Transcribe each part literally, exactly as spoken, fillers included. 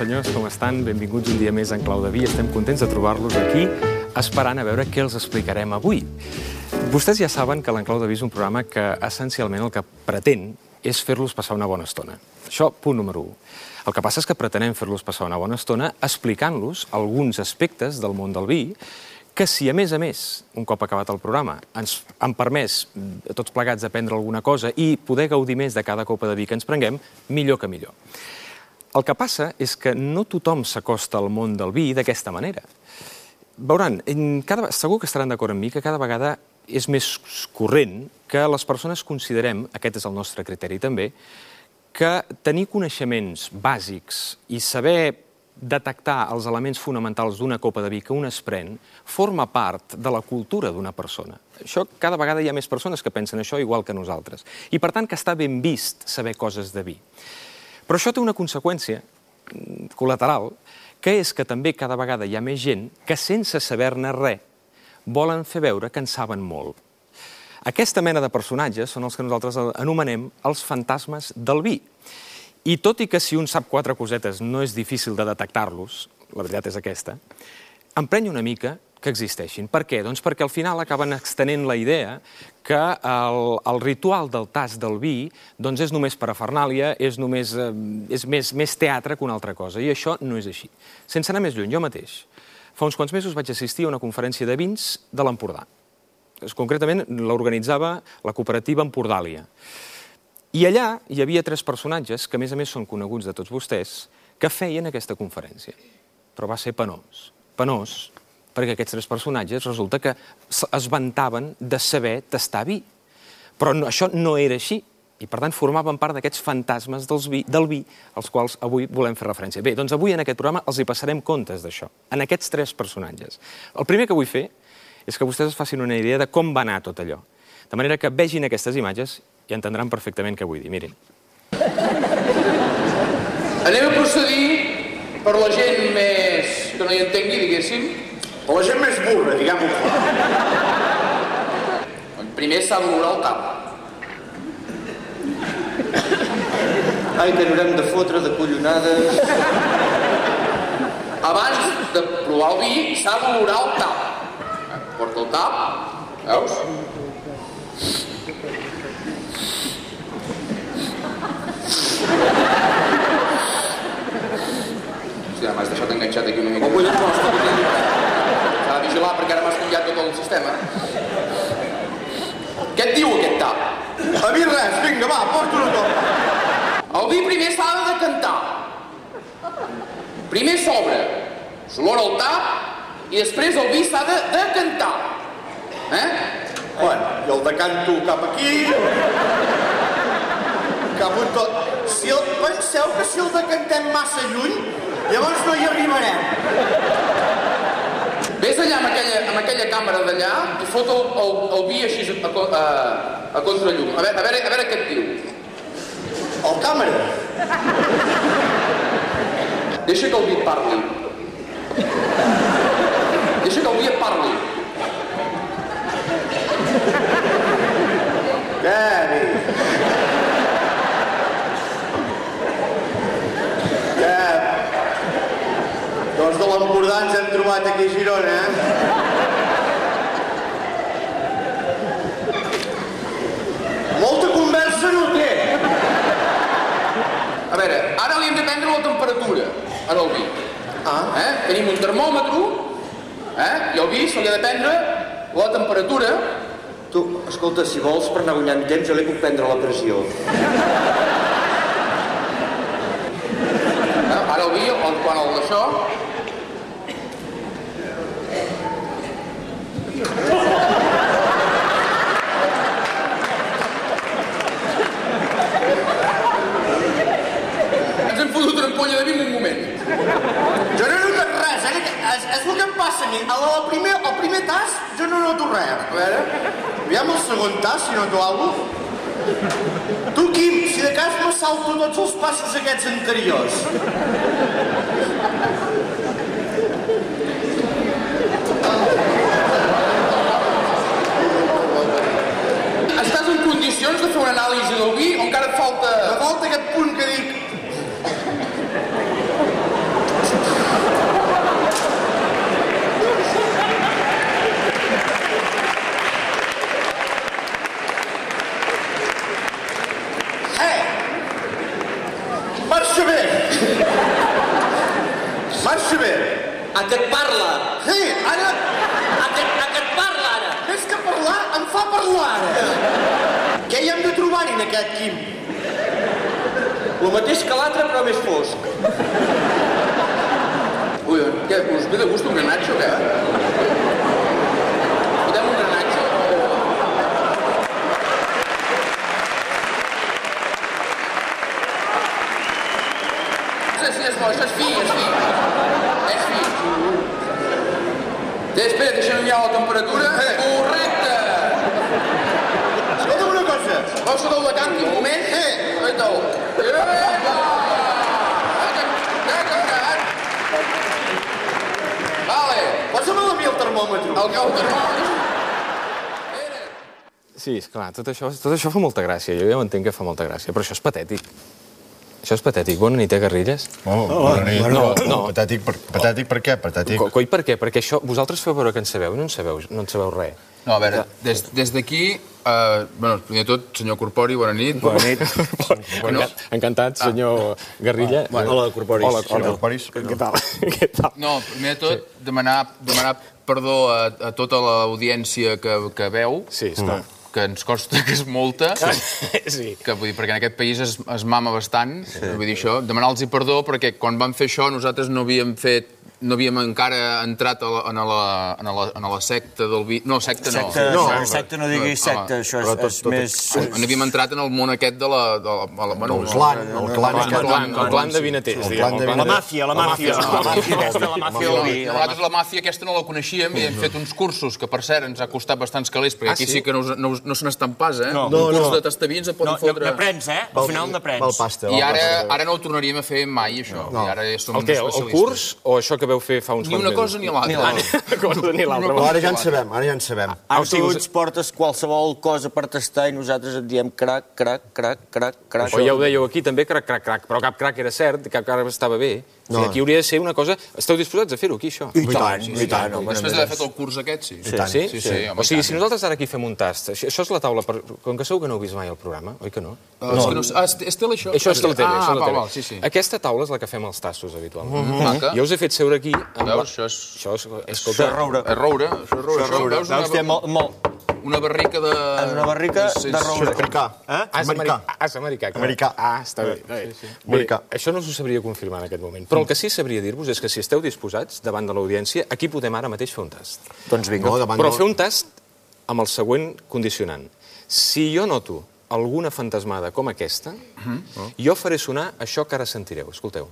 senyors, com estan? Benvinguts un dia més en Clau de Vi. Estem contents de trobar-los aquí, esperant a veure què els explicarem avui. Vostès ja saben que l'Enclau de Vi és un programa que essencialment el que pretén és fer-los passar una bona estona. Això, punt número u. El que passa és que pretenem fer-los passar una bona estona explicant-los alguns aspectes del món del vi que si, a més a més, un cop acabat el programa, ens han permès a tots plegats aprendre alguna cosa i poder gaudir més de cada copa de vi que ens prenguem, millor que millor. El que passa és que no tothom s'acosta al món del vi d'aquesta manera. Veuran, cada, segur que estaran d'acord amb mi que cada vegada és més corrent que les persones considerem, aquest és el nostre criteri també, que tenir coneixements bàsics i saber detectar els elements fonamentals d'una copa de vi que un es pren forma part de la cultura d'una persona. Això, cada vegada hi ha més persones que pensen això igual que nosaltres. I per tant que està ben vist saber coses de vi. Però això té una conseqüència col·lateral, que és que també cada vegada hi ha més gent que sense saber-ne res volen fer veure que en saben molt. Aquesta mena de personatges són els que nosaltres anomenem els fantasmes del vi. I tot i que si un sap quatre cosetes no és difícil de detectar-los, la veritat és aquesta, emprenya una mica que existeixin. Per què? Doncs perquè al final acaben extenent la idea que el, el ritual del tast del vi doncs és només parafernàlia, és, només, eh, és més, més teatre que una altra cosa, i això no és així. Sense anar més lluny, jo mateix, fa uns quants mesos vaig assistir a una conferència de vins de l'Empordà. Concretament l'organitzava la cooperativa Empordàlia. I allà hi havia tres personatges, que a més a més són coneguts de tots vostès, que feien aquesta conferència. Però va ser penós. Penós, perquè aquests tres personatges resulta que es vantaven de saber tastar vi. Però no, això no era així, i per tant formaven part d'aquests fantasmes dels vi, del vi als quals avui volem fer referència. Bé, doncs avui en aquest programa els hi passarem comptes d'això, en aquests tres personatges. El primer que vull fer és que vostès es facin una idea de com va anar tot allò. De manera que vegin aquestes imatges i entendran perfectament què vull dir. Mirin. Anem a procedir per la gent més que no hi entengui, diguéssim. Per la gent més burra, diguem-ho clar. Primer s'ha d'olorar el tap. Ai, que n'haurem de fotre de collonades. Abans de provar el vi s'ha d'olorar el tap. Porta el tap, veus? Hòstia, m'has deixat enganxat aquí una mica. Oh, collons, no, S'ha de vigilar perquè ara m'has canviat tot el sistema. Què et diu aquest tap? A mi res, vinga, va, porta-ho tot. El vi primer s'ha de decantar. Primer s'obre, s'olora el tap i després el vi s'ha de decantar. Eh? Bueno, i el decanto cap aquí, cap on tot. Si el, penseu que si el decantem massa lluny, llavors no hi arribarem. Ves allà amb aquella, amb aquella càmera d'allà i fot el, el, el vi així a, a, a contrallum. A veure, a, veure, a veure què et diu. El càmera? Deixa que el vi et parli. Deixa que el vi et parli. Què, vi? Què? Doncs de l'Empordà ens hem trobat aquí a Girona, eh? Molta conversa no té. A veure, ara li hem de prendre la temperatura en el vi. Ah. Eh? Tenim un termòmetre, eh? I el vi se li ha de prendre la temperatura. Tu, escolta, si vols per anar guanyant temps, jo li puc prendre la pressió. Eh? Ara el vi, quan el d'això... Ens hem fotut una ampolla de vi en un moment. Jo no he notat res, eh? És, és el que em passa a mi. El primer, el primer tas, jo no noto res. A veure... Aviam el segon tas, si noto alguna cosa. Tu, Quim, si de cas me salto tots els passos aquests anteriors. Estàs en condicions de fer una anàlisi del vi o encara et falta... Me falta aquest punt que dic... parla? Sí, ara... A què, a què et parla, ara? Més que parlar, em fa parlar, ara. Què hi hem de trobar-hi, en aquest Quim? El mateix que l'altre, però més fosc. Ui, què, us ve de gust un granatge o què? Podem un granatge? Sí, sí, és bo, això és fi, és fi. És fi. Té, espera, deixa'm mirar la temperatura. Correcte! Escolta'm una cosa. Vols saber de canti un moment? Sí. Aita-ho. Vale. Posa'm a mi el termòmetre. El cau termòmetre. Sí, esclar, tot això, tot això fa molta gràcia. Jo ja ho entenc que fa molta gràcia, però això és patètic. Això és patètic. Bona nit, eh, Garrigues? Oh, bona nit. no, no. Patètic per, patètic per què? Patètic. Co coi, per què? Perquè això, vosaltres feu veure que en sabeu i no en sabeu, no en sabeu res. No, a veure, des, des d'aquí, eh, bueno, primer de tot, senyor Corpori, bona nit. Bona nit. Bueno. Encantat, senyor Garrilla. Hola, Corporis. Hola, Senyor Corporis. Què tal? Què tal? No, primer de tot, demanar, demanar perdó a, a tota l'audiència que, que veu, Sí, esclar. que ens costa que és molta, Sí. que, vull dir, perquè en aquest país es, es mama bastant, sí. Vull dir això, demanar-los perdó perquè quan vam fer això nosaltres no havíem fet no havíem encara entrat a la, en, la, en, la, en la secta del vi... No, secta no. Secta no, no, secta no diguis secta, això és, és més... No havíem entrat en el món aquest de la... De la, de la bueno, El clan, el clan El aquest. clan, el clan de vinaters, diguem. de La màfia, la màfia, la màfia aquesta, la màfia del vi. Nosaltres la màfia aquesta no la coneixíem i hem fet uns cursos que, per cert, ens ha costat bastants calés, perquè Ah, aquí sí? sí que no, us- no, us- no se n'estan pas, eh? No. Un curs de tastaví ens en No, poden fotre... n'aprens, eh? Al final n'aprens. Val pasta. I val ara, pasta. ara no ho tornaríem a fer mai, això. I ara ja som El què? El, el especialistes. curs o això que veu fer fa uns Ni una cosa ni l'altra. Ni una cosa ni l'altra. Però ara ja en sabem, ara ja en sabem. Ah, Ara o sigui, tu us- ens portes qualsevol cosa per tastar i nosaltres et diem crac, crac, crac, crac, crac. O ja ho dèieu aquí també, crac, crac, crac, però cap crac era cert, cap crac estava bé. O sigui, aquí hauria de ser una cosa... Esteu disposats a fer-ho, aquí, això? I tant, i tant, home. Després d'haver fet el curs aquest, sí. Sí? Sí, sí, sí, home, O sigui, i tant. si nosaltres ara aquí fem un tast, això, això és la taula, per... com que segur que no heu vist mai el programa, oi que no? Ah, és que no, ah, és, és tele, això? Això és la tele, ah, això és la val, tele. val, sí, sí. Aquesta taula és la que fem els tastos, habitualment. Maca. Jo us he fet seure aquí... Amb Veus, això és... Això és... Escolta, roure. És roure, això és roure. Això, veus, Veus, té una, molt, molt... una barrica de... És una barrica és- és- de roure. Americà. Eh? Ah, és Americà. americà. Ah, és americà. clar. Americà. Ah, està bé. Està bé. Bé, Americà. això no us ho sabria confirmar en aquest moment. Però el que sí sabria dir-vos és que si esteu disposats, davant de l'audiència, aquí podem ara mateix fer un tast. Doncs vinga. No, davant Però del- fer un tast amb el següent condicionant. Si jo noto alguna fantasmada com aquesta, jo faré sonar això que ara sentireu. Escolteu.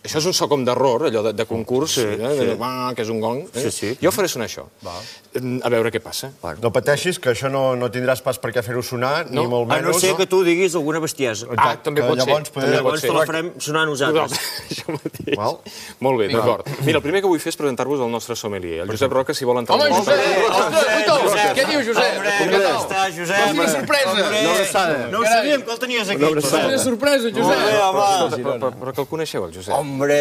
Això és un so com d'error, allò de, de concurs, sí, eh? sí. Ah, que és un gong. Eh? Sí, sí. Jo faré sonar això. A veure què passa. No pateixis, que això no, no tindràs pas per què fer-ho sonar, No. ni molt A no menys. ser que tu diguis alguna bestiesa. Ah, també que pot ser. llavors poder- També pot Llavors ser. te la farem sonar a nosaltres. Això mateix. Val. Molt bé, d'acord. Mira, el primer que vull fer és presentar-vos el nostre sommelier, el Josep Roca, si vol entrar... Home, al Josep! nostre- Ostres, Guito! Què dius, Josep? Hombre, Què com tal? està, Josep? Quina sorpresa! Una abraçada. No ho sabíem que el tenies aquí. Quina sorpresa, Josep! Bé, home. Però, però, però que el coneixeu, el Josep? Hombre.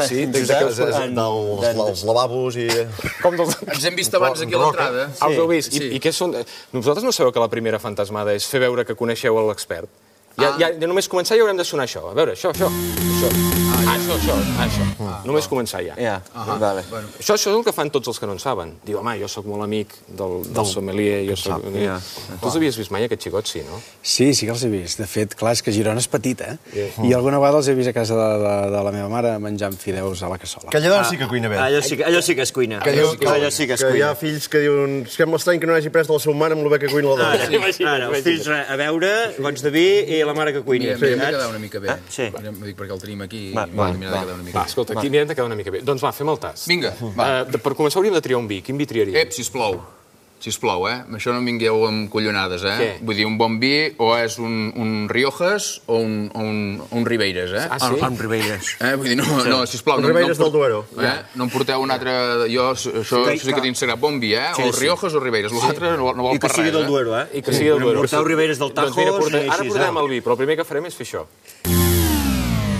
Sí, Des Josep, d'aquests- des en- dels, dels lavabos i... Com dels... Ens hem vist abans aquí a l'entrada. Ah, us heu vist? Sí. I, I què són... Vosaltres no sabeu que la primera fantasmada és fer veure que coneixeu l'expert? Ja, ja, ja només començar ja haurem de sonar això. A veure, això, això, això. Ah, això, això, això. Només començar ja. Ja, vale. Això, això és el que fan tots els que no en saben. Diu, home, jo sóc molt amic del, del sommelier, jo soc... ja. Tu els havies vist mai, aquest xicot, sí, no? Sí, sí que els he vist. De fet, clar, és que Girona és petita, eh? I alguna vegada els he vist a casa de, de, de la meva mare menjant fideus a la cassola. Aquella dona sí que cuina bé. Allò sí, que- allò sí que és cuina. Que, diu, que, Allò sí que és que hi ha cuina. fills que diuen sembla estrany que no hagi pres de la seva mare amb el bé que cuina la dona. Ara, ara, els fills res, a veure, gots de vi i la mare que cuini. Mira, mirem de quedar una mica bé. Ah, sí. Mirem, dic, perquè el tenim aquí. Va, i va, mirem de va. quedar una mica Va, bé. escolta, aquí mirem de quedar una mica bé. Doncs va, fem el tas. Vinga, va. Uh, per començar hauríem de triar un vi. Quin vi triaríem? Ep, sisplau. Sisplau, eh? Amb això no em vingueu amb collonades, eh? Què? Vull dir, un bon vi o és un, un Riojas o un, o un, un Ribeiras, eh? Ah, sí? Amb Ribeires. Eh? Vull dir, no, no, sisplau. Un no, Ribeiras no, em del Duero. Eh? No em porteu un altre... Jo, això, això sí que tinc sagrat bon vi, eh? Sí, O sí. Riojas o Ribeiras. L'altre no, no vol I que per sigui res, del eh? Duero, eh? I que sigui del Duero. Porteu Ribeires del Doncs mira, Tajo, porta... i ara així, portarem eh? el vi, però el primer que farem és fer això.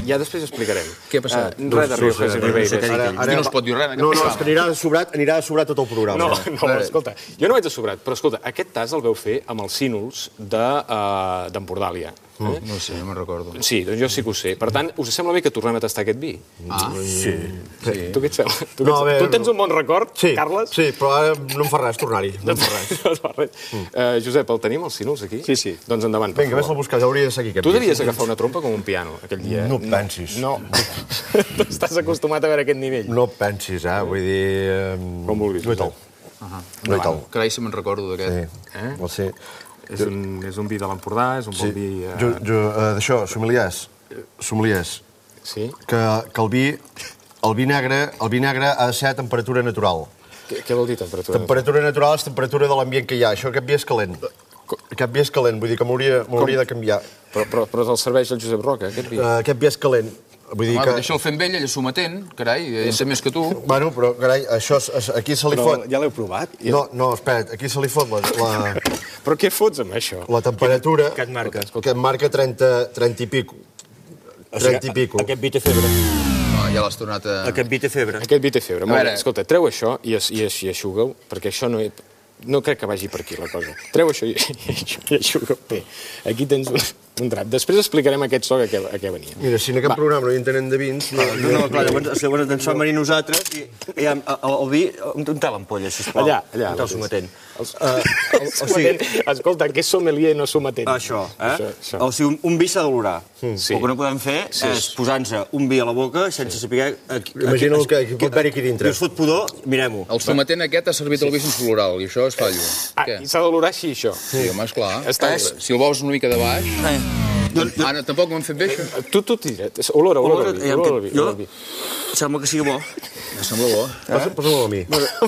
Ja després explicarem. Què ha passat? Uh, res de Riojas i Ribeires. Ara, Aquí no es pot dir res, en aquest No, no, és programa. que anirà de sobrat, anirà de sobrat tot el programa. No, no, escolta, jo no vaig de sobrat, però escolta, aquest tas el veu fer amb els sínols d'Empordàlia. De, uh, No sé, no me'n recordo. Sí, doncs jo sí que ho sé. Per tant, us sembla bé que tornem a tastar aquest vi? Ah, Sí. Tu què et sembla? Tu, No, a què et... veure, tu tens un bon record, Sí, Carles? sí, però ara no em fa res tornar-hi. No em fa res. No et fa res. Uh, Josep, el tenim, els sínols, aquí? Sí, sí. Doncs endavant, per Vinga, vés-lo a favor. buscar, ja hauria de seguir aquest Tu vi. devies agafar una trompa com un piano, aquell dia. eh? No et pensis. No. Tu estàs acostumat a veure aquest nivell. No et pensis, eh? Vull dir... eh, Com vulguis, No i tal. No i tal. carai, si me'n recordo Sí, d'aquest. Eh? no sé. És un, és un vi de l'Empordà, és un Sí. bon vi... Uh... Jo, jo, eh, d'això, sommeliers, sommeliers, Sí? que, que el vi, el vi negre, el vi negre ha de ser a temperatura natural. Què, què vol dir temperatura? Temperatura natural és temperatura de l'ambient que hi ha. Això, aquest vi és calent. Aquest vi és calent, vull dir que m'hauria m'hauria de canviar. Però, però, però el serveix el Josep Roca, aquest vi? Uh, aquest vi és calent. Vull dir Home, que... deixa'l fer amb ell, ell és sometent, carai, ell sé més que tu. Bueno, però, carai, això, és- és- aquí se li Però fot... ja l'heu provat? No, no, espera't, aquí se li fot la, la, Però què fots amb això? la temperatura... Què et marca? Que et marca trenta, trenta i pico. trenta i pico. Aquest vi té febre. No, ja l'has tornat a... Aquest vi té febre. Aquest vi té febre. Molt veure. bé, escolta, treu això i, es, i, es, i aixuga-ho, perquè això no... He... No crec que vagi per aquí, la cosa. Treu això i, i aixuga-ho bé. Aquí tens un, un drap. Després explicarem aquest so a què, a què venia. Mira, si en aquest programa no hi entenem de vins... No, No, no, clar, llavors, llavors ens som venir nosaltres i, i el, el, el vi... On té l'ampolla, sisplau? Allà, allà. On té el sometent? Els, Uh, el, o sigui, sometent. Escolta, que és sommelier i no sometent. això, eh? Això, això. O sigui, un, un vi s'ha d'olorar. Sí. El que no podem fer Sí. és posar-nos un vi a la boca sense saber... Aquí, Imagina el que, que pot haver-hi aquí dintre. I us fot pudor, mirem-ho. El sometent aquest ha servit el vi sense floral, i això és fallo. Ah, Què? i s'ha d'olorar així, això. Sí, home, esclar. Està bé. Si el veus una mica de baix... Ah, no, tampoc m'han fet bé, això. Tu, tu tira. Olora, olora el vi. Olora, Olora el vi. jo- olora el vi. Sembla que sigui bo. Em sembla bo. Posa- Posa-me'l a mi.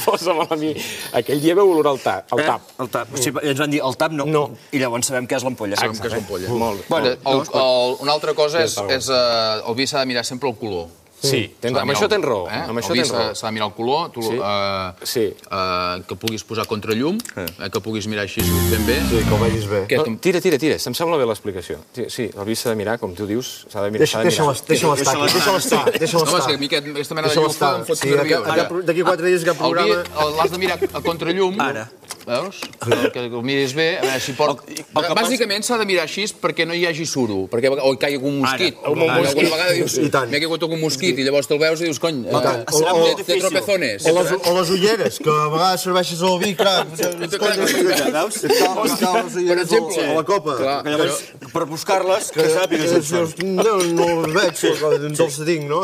Posa-me'l a mi. Aquell dia veu olorar el tap. El tap. Eh? El tap. Sí, i ens van dir, el tap no. No. I llavors sabem què és l'ampolla. Sabem que és l'ampolla. Molt bé. Bueno, el, el, una altra cosa és, és uh, el vi s'ha de mirar sempre el color. Sí, tens, S'ha de amb mirar això el- tens raó. Eh? Amb això el vi tens s'ha raó. s'ha de mirar el color, tu, Sí. uh, Sí. uh, que puguis posar contrallum, eh, que puguis mirar així ben bé. Sí, que ho vegis bé. Què, No, que- tira, tira, tira. Em sembla bé l'explicació. Sí, sí, el vi s'ha de mirar, com tu dius, s'ha de mirar. Deixa- s'ha de mirar. Deixa-la deixa estar, deixa-la estar, deixa-la Home, és que a estar. mi aquest, aquesta mena de Deixa-la llufa estar. em fot Sí, nerviós. aquest- aquest- d'aquí quatre dies aquest El vi programa- el- l'has de mirar a contrallum. Ara. Veus? Que, que el miris bé, a veure si pot... El- el que Bàsicament s'ha de mirar així perquè no hi hagi suro, perquè o hi caigui algun mosquit. Ara. Alguna alguna vegada dius, I tant. m'ha caigut algun mosquit, i llavors te'l veus i dius, cony, tant. eh, O- o- té- té tropezones. O les, o les ulleres, que a vegades serveixes el vi, clar. Veus? Per exemple. a la copa. Clar. Que llavors, per buscar-les, que Que sàpigues on són. no, no els veig, d'on se tinc, no?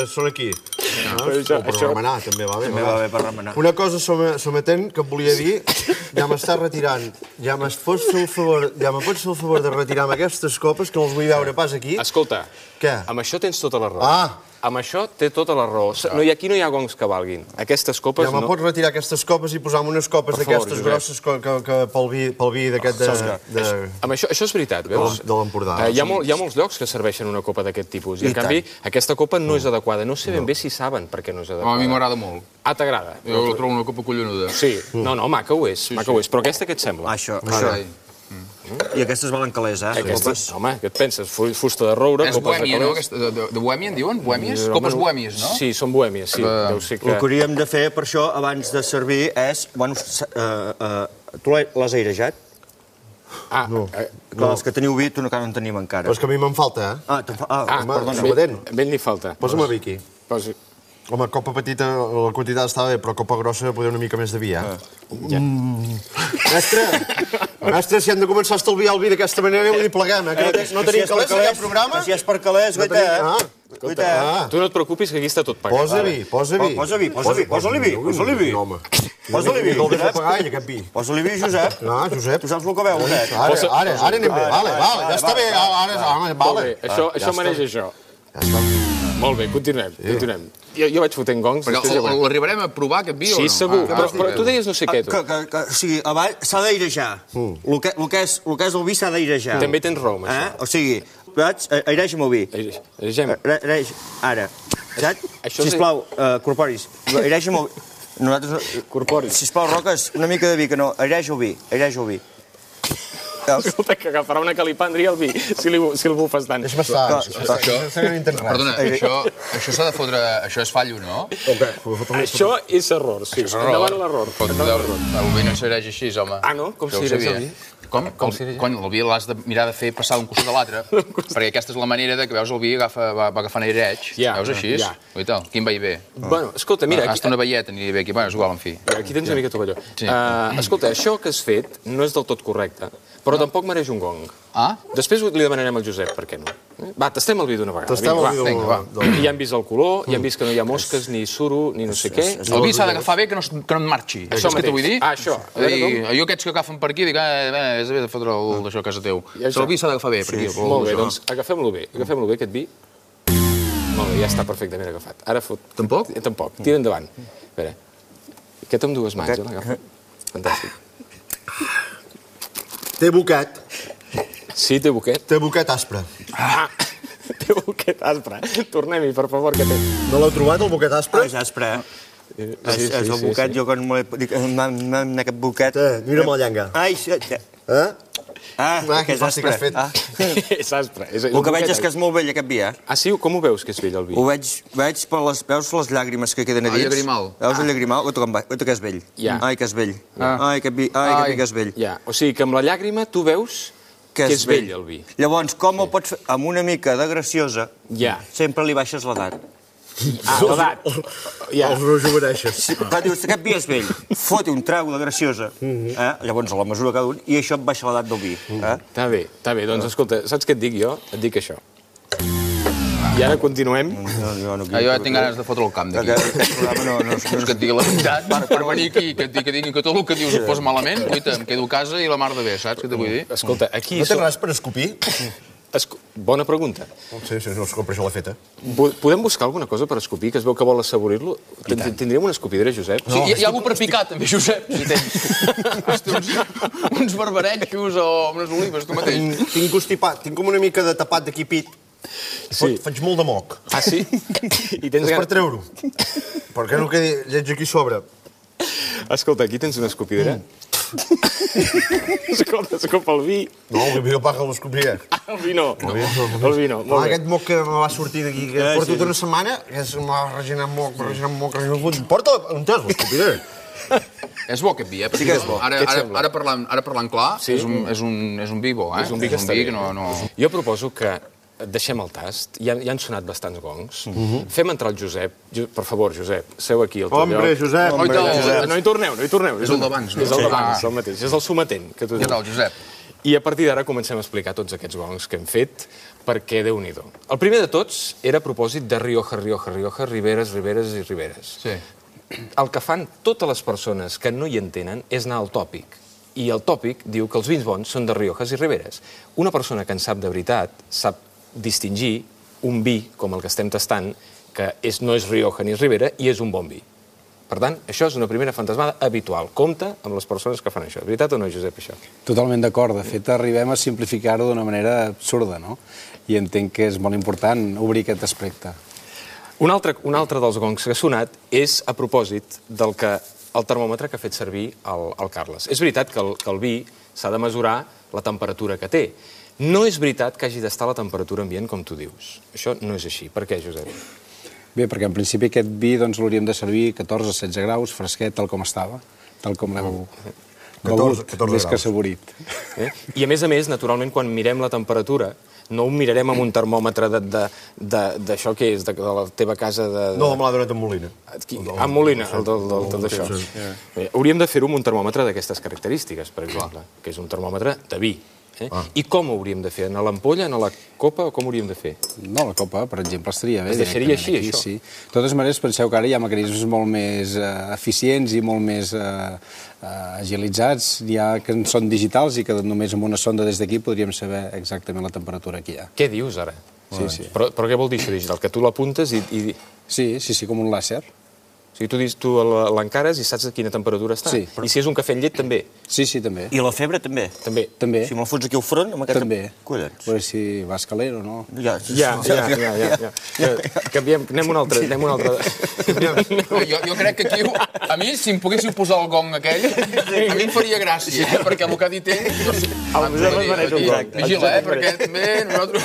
Són aquí. Però això- O per això- remenar, també va bé. També va bé per remenar. Una cosa som- sometent que et volia dir, ja m'està retirant. Ja m'es pots fer el favor, ja me pots fer el favor de retirar-me aquestes copes, que no els vull veure pas aquí. Escolta, Què? amb això tens tota la raó. Ah. Amb això té tota la raó. No, i aquí no hi ha gongs que valguin. Aquestes copes Ja me no... pots retirar aquestes copes i posar-me unes copes Per favor, d'aquestes Josep. grosses que, que, que pel vi, pel vi d'aquest de, de... Amb això, això és veritat, veus? de l'Empordà. Eh, hi, ha molt, hi ha molts llocs que serveixen una copa d'aquest tipus. I, I en canvi, aquesta copa no és adequada. No sé ben bé si saben per què no és A mi adequada. m'agrada molt. Ah, t'agrada? Jo trobo una copa collonuda. Sí. No, no, maca ho és. Maca ho és. Però aquesta què et sembla? Això, això. Carai. I aquestes valen calés, eh? Aquestes, home, què et penses? Fu- Fusta de roure, És copes de bohèmia, no? calés. Aquesta, de, de, de bohèmia en diuen? Bohèmies? Eh, Copes home, bohèmies, no? Sí, són bohèmies, sí. Eh, Deu ser El que que... hauríem de fer, per això, abans de servir, és... Bueno, s- uh, uh, tu l'has airejat? Ah, no. Eh, Clar, els que teniu vi, tu encara no en tenim encara. Però és que a mi me'n falta, eh? Ah, te'n fa... ah, ah, home, perdona. sometent. Ben, ben li falta. Posa'm a vi aquí. Posi... Home, copa petita, la quantitat estava bé, però copa grossa poder una mica més de vi, eh? Ja. Mestre, mestre, si hem de començar a estalviar el vi d'aquesta manera, vull dir, pleguem, eh? Que no, te- no tenim calés en aquest programa? Si és per calés, No guaita, tenim- eh? Ah, Guaita, eh? ah. Tu no et preocupis, que aquí està tot pagat. Posa vi, posa vi. Posa vi, posa vi, posa-li vi, posa-li vi. No, home. Posa-li vi, No el deixo Josep. pagar, ell, aquest vi. Posa-li vi, Josep. Ah, Josep. Tu saps el que veu, Josep? Ara, ara, ara anem bé, vale, vale, ja està bé, ara, home, Molt vale. bé, això, això mereix això. Molt bé, continuem, continuem. Jo, jo vaig fotent gongs. Perquè després ja el- veurem. l'arribarem a provar, aquest vi, o no? Sí, segur. Ah, Però, ah, però tu deies no sé què, tu. Que, que, que, o sigui, abans s'ha d'airejar. El, que, el, que és, el que és el vi s'ha d'airejar. També tens raó, amb Eh? això. O sigui, vaig, aireja'm el vi. Airejem. Aire- Aireja, ara. Saps? Això és- Sisplau, uh, corporis, aireja'm el vi. Nosaltres... no- Corporis. Sisplau, Roques, una mica de vi, que no. Aireja el vi, aireja el vi. Escolta, que agafarà una calipàndria al vi, si, li, si el bufes tant. És bastant. Perdona, això, això s'ha de fotre... Això és fallo, no? Això és error, sí. Endavant l'error. El vi no sereix així, home. Ah, no? Com si sereix el vi? Com? Cony, el vi l'has de mirar de fer passar d'un costat a l'altre, perquè aquesta és la manera de que veus el vi agafa, va, va agafant aireig. Veus així? Oita, quin veí bé. Bueno, escolta, mira... Hasta una veieta aniria bé aquí. Bueno, és igual, en fi. Aquí tens una mica tovalló. Escolta, això que has fet no és del tot correcte, però tampoc mereix un gong. Ah? Després li demanarem al Josep per què no. Va, tastem el vi d'una vegada. Tastem el vi d'una vegada. Ja hem vist el color, ja hem vist que no hi ha mosques, ni suro, ni no sé què. El vi s'ha d'agafar bé, que no et marxi. Això que t'ho vull dir? Ah, això. Jo aquests que agafen per aquí, dic, eh, és bé de fotre d'això a casa teu. El vi s'ha d'agafar bé per aquí. Molt bé, doncs agafem-lo bé. Agafem-lo bé, aquest vi. Molt bé, ja està perfectament agafat. Ara fot... Tampoc? Tampoc. Tira endavant. A veure. Aquest amb dues mans, eh, l'agafa. Fantàstic. Té boquet. Sí, té boquet. Té boquet aspre. Ah, té boquet aspre. Tornem-hi, per favor, que té. No l'heu trobat, el boquet aspre? És aspre, eh? És el boquet, jo quan m'ho dic, aquest boquet... Mira'm la llenga. Ai, sí. Eh? Ah, que és aspre. És aspre. El que veig és que és molt vell, aquest vi, eh? Ah, sí? Com ho veus, que és vell, el vi? Ho veig, veig per les... Veus les llàgrimes que queden a dins? El llagrimal. Veus el llagrimal? Oita que és vell. Ai, que és vell. Ai, que vi que és vell. Ja, o sigui que amb la llàgrima tu veus que és vell, el vi. Llavors, com el pots fer? Amb una mica de graciosa, sempre li baixes l'edat. Ah, l'edat. Els rejuveneixes. Clar, dius, aquest vi és vell, foti un trago de graciosa, llavors a la mesura cada un, i això et baixa l'edat del vi. Està bé, està bé. Doncs escolta, saps què et dic jo? Et dic això. I ara continuem. Jo ja tinc ganes de fotre el camp d'aquí. No és que et digui la veritat, per venir aquí, que et diguin que tot el que dius et posa malament, guaita, em quedo a casa i la mar de bé, saps què t'ho vull dir? Escolta, aquí... No tens res per escopir? Bona pregunta. Sí, sí, no es compra això la feta. Podem buscar alguna cosa per escopir, que es veu que vol assaborir-lo? Tindríem una escopidera, Josep? Hi ha algú per picar, també, Josep, si tens. Uns barbarejos o unes olives, tu mateix. Tinc constipat, tinc com una mica de tapat d'aquí pit. Faig molt de moc. Ah, sí? És per treure-ho. Per què no quedi lleig aquí sobre? Escolta, aquí tens una escopidera. Escolta, escopa el vi. No, el vi el paga l'escopia. Ah, el vi no. El vi no. Aquest moc que me va sortir d'aquí, que porto tota una setmana, que m'ha reginat moc, reginat moc, reginat moc... Porta, on tens l'escopidera? És bo aquest vi, eh? Sí que és bo. Ara parlant clar, és un vi bo, eh? És un vi que està bé. Jo proposo que deixem el tast. Ja han sonat bastants gongs. Fem entrar el Josep. Per favor, Josep, seu aquí al teu lloc. Hombre, Josep! No hi torneu, no hi torneu. És el d'abans, no? És el d'abans, el mateix. És el sometent que tu dius. Què tal, Josep? I a partir d'ara comencem a explicar tots aquests gongs que hem fet, perquè Déu-n'hi-do. El primer de tots era a propòsit de Rioja, Rioja, Rioja, Riberes, Riberes i Riberes. Sí. El que fan totes les persones que no hi entenen és anar al tòpic. I el tòpic diu que els vins bons són de Riojas i Riberes. Una persona que en sap de veritat sap distingir un vi, com el que estem tastant, que és, no és Rioja ni és Ribera, i és un bon vi. Per tant, això és una primera fantasmada habitual. Compte amb les persones que fan això. Veritat o no, Josep, això? Totalment d'acord. De fet, arribem a simplificar-ho d'una manera absurda, no? I entenc que és molt important obrir aquest aspecte. Un altre, un altre dels gongs que ha sonat és a propòsit del que el termòmetre que ha fet servir el, el Carles. És veritat que el, que el vi s'ha de mesurar la temperatura que té. No és veritat que hagi d'estar a la temperatura ambient, com tu dius. Això no és així. Per què, Josep? Bé, perquè en principi aquest vi doncs, l'hauríem de servir catorze a setze graus, fresquet, tal com estava, tal com l'heu begut, més que assaborit. I a més a més, naturalment, quan mirem la temperatura, no ho mirarem amb un termòmetre d'això que és, de la teva casa de... No, me l'ha donat en Molina. En Molina, d'això. Hauríem de fer-ho amb un termòmetre d'aquestes característiques, per exemple, que és un termòmetre de vi. I com ho hauríem de fer? En l'ampolla, en la copa, o com ho hauríem de fer? No, la copa, per exemple, estaria bé. Es deixaria així, això? Sí. De totes maneres, penseu que ara hi ha mecanismes molt més eficients i molt més agilitzats, hi ha que són digitals i que només amb una sonda des d'aquí podríem saber exactament la temperatura que hi ha. Què dius, ara? Sí, sí. Però què vol dir això digital? Que tu l'apuntes i... Sí, sí, sí, com un làser. O sigui, tu l'encares i saps a quina temperatura està. Sí. I si és un cafè amb llet, també. Sí, sí, també. I la febre, també? També. També. Si me'l fots aquí al front, amb aquesta... També. Collons. Però si vas calent o no... Ja, ja, ja, ja. Canviem, anem un altre, anem un altre... Jo crec que aquí, a mi, si em poguéssiu posar el gong aquell, a mi em faria gràcia, perquè el que ha dit ell... El Josep es mereix un gol. Vigila, eh, perquè també nosaltres...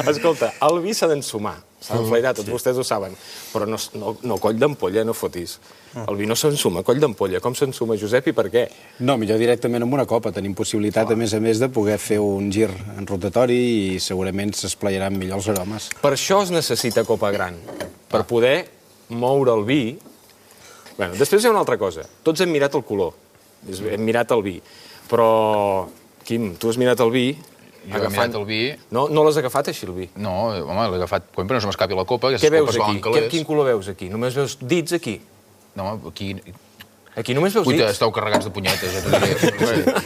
Escolta, el vi s'ha d'ensumar, s'ha d'enflairar, tots vostès ho saben, però no, no, no coll d'ampolla, no fotis. El vi no s'ensuma, coll d'ampolla. Com s'ensuma, Josep, i per què? No, millor directament amb una copa. Tenim possibilitat, a més a més, de poder fer un gir en rotatori i segurament s'esplaiaran millor els aromes. Per això es necessita copa gran, per poder moure el vi. Bueno, després hi ha una altra cosa. Tots hem mirat el color, hem mirat el vi, però, Quim, tu has mirat el vi... Jo he mirat el vi... No, no l'has agafat així, el vi? No, home, l'he agafat... Però no se m'escapi la copa, què veus aquí? Quin color veus aquí? Només veus dits aquí? No, aquí... Aquí només veus dits? Uita, esteu carregats de punyetes, ja t'ho diré.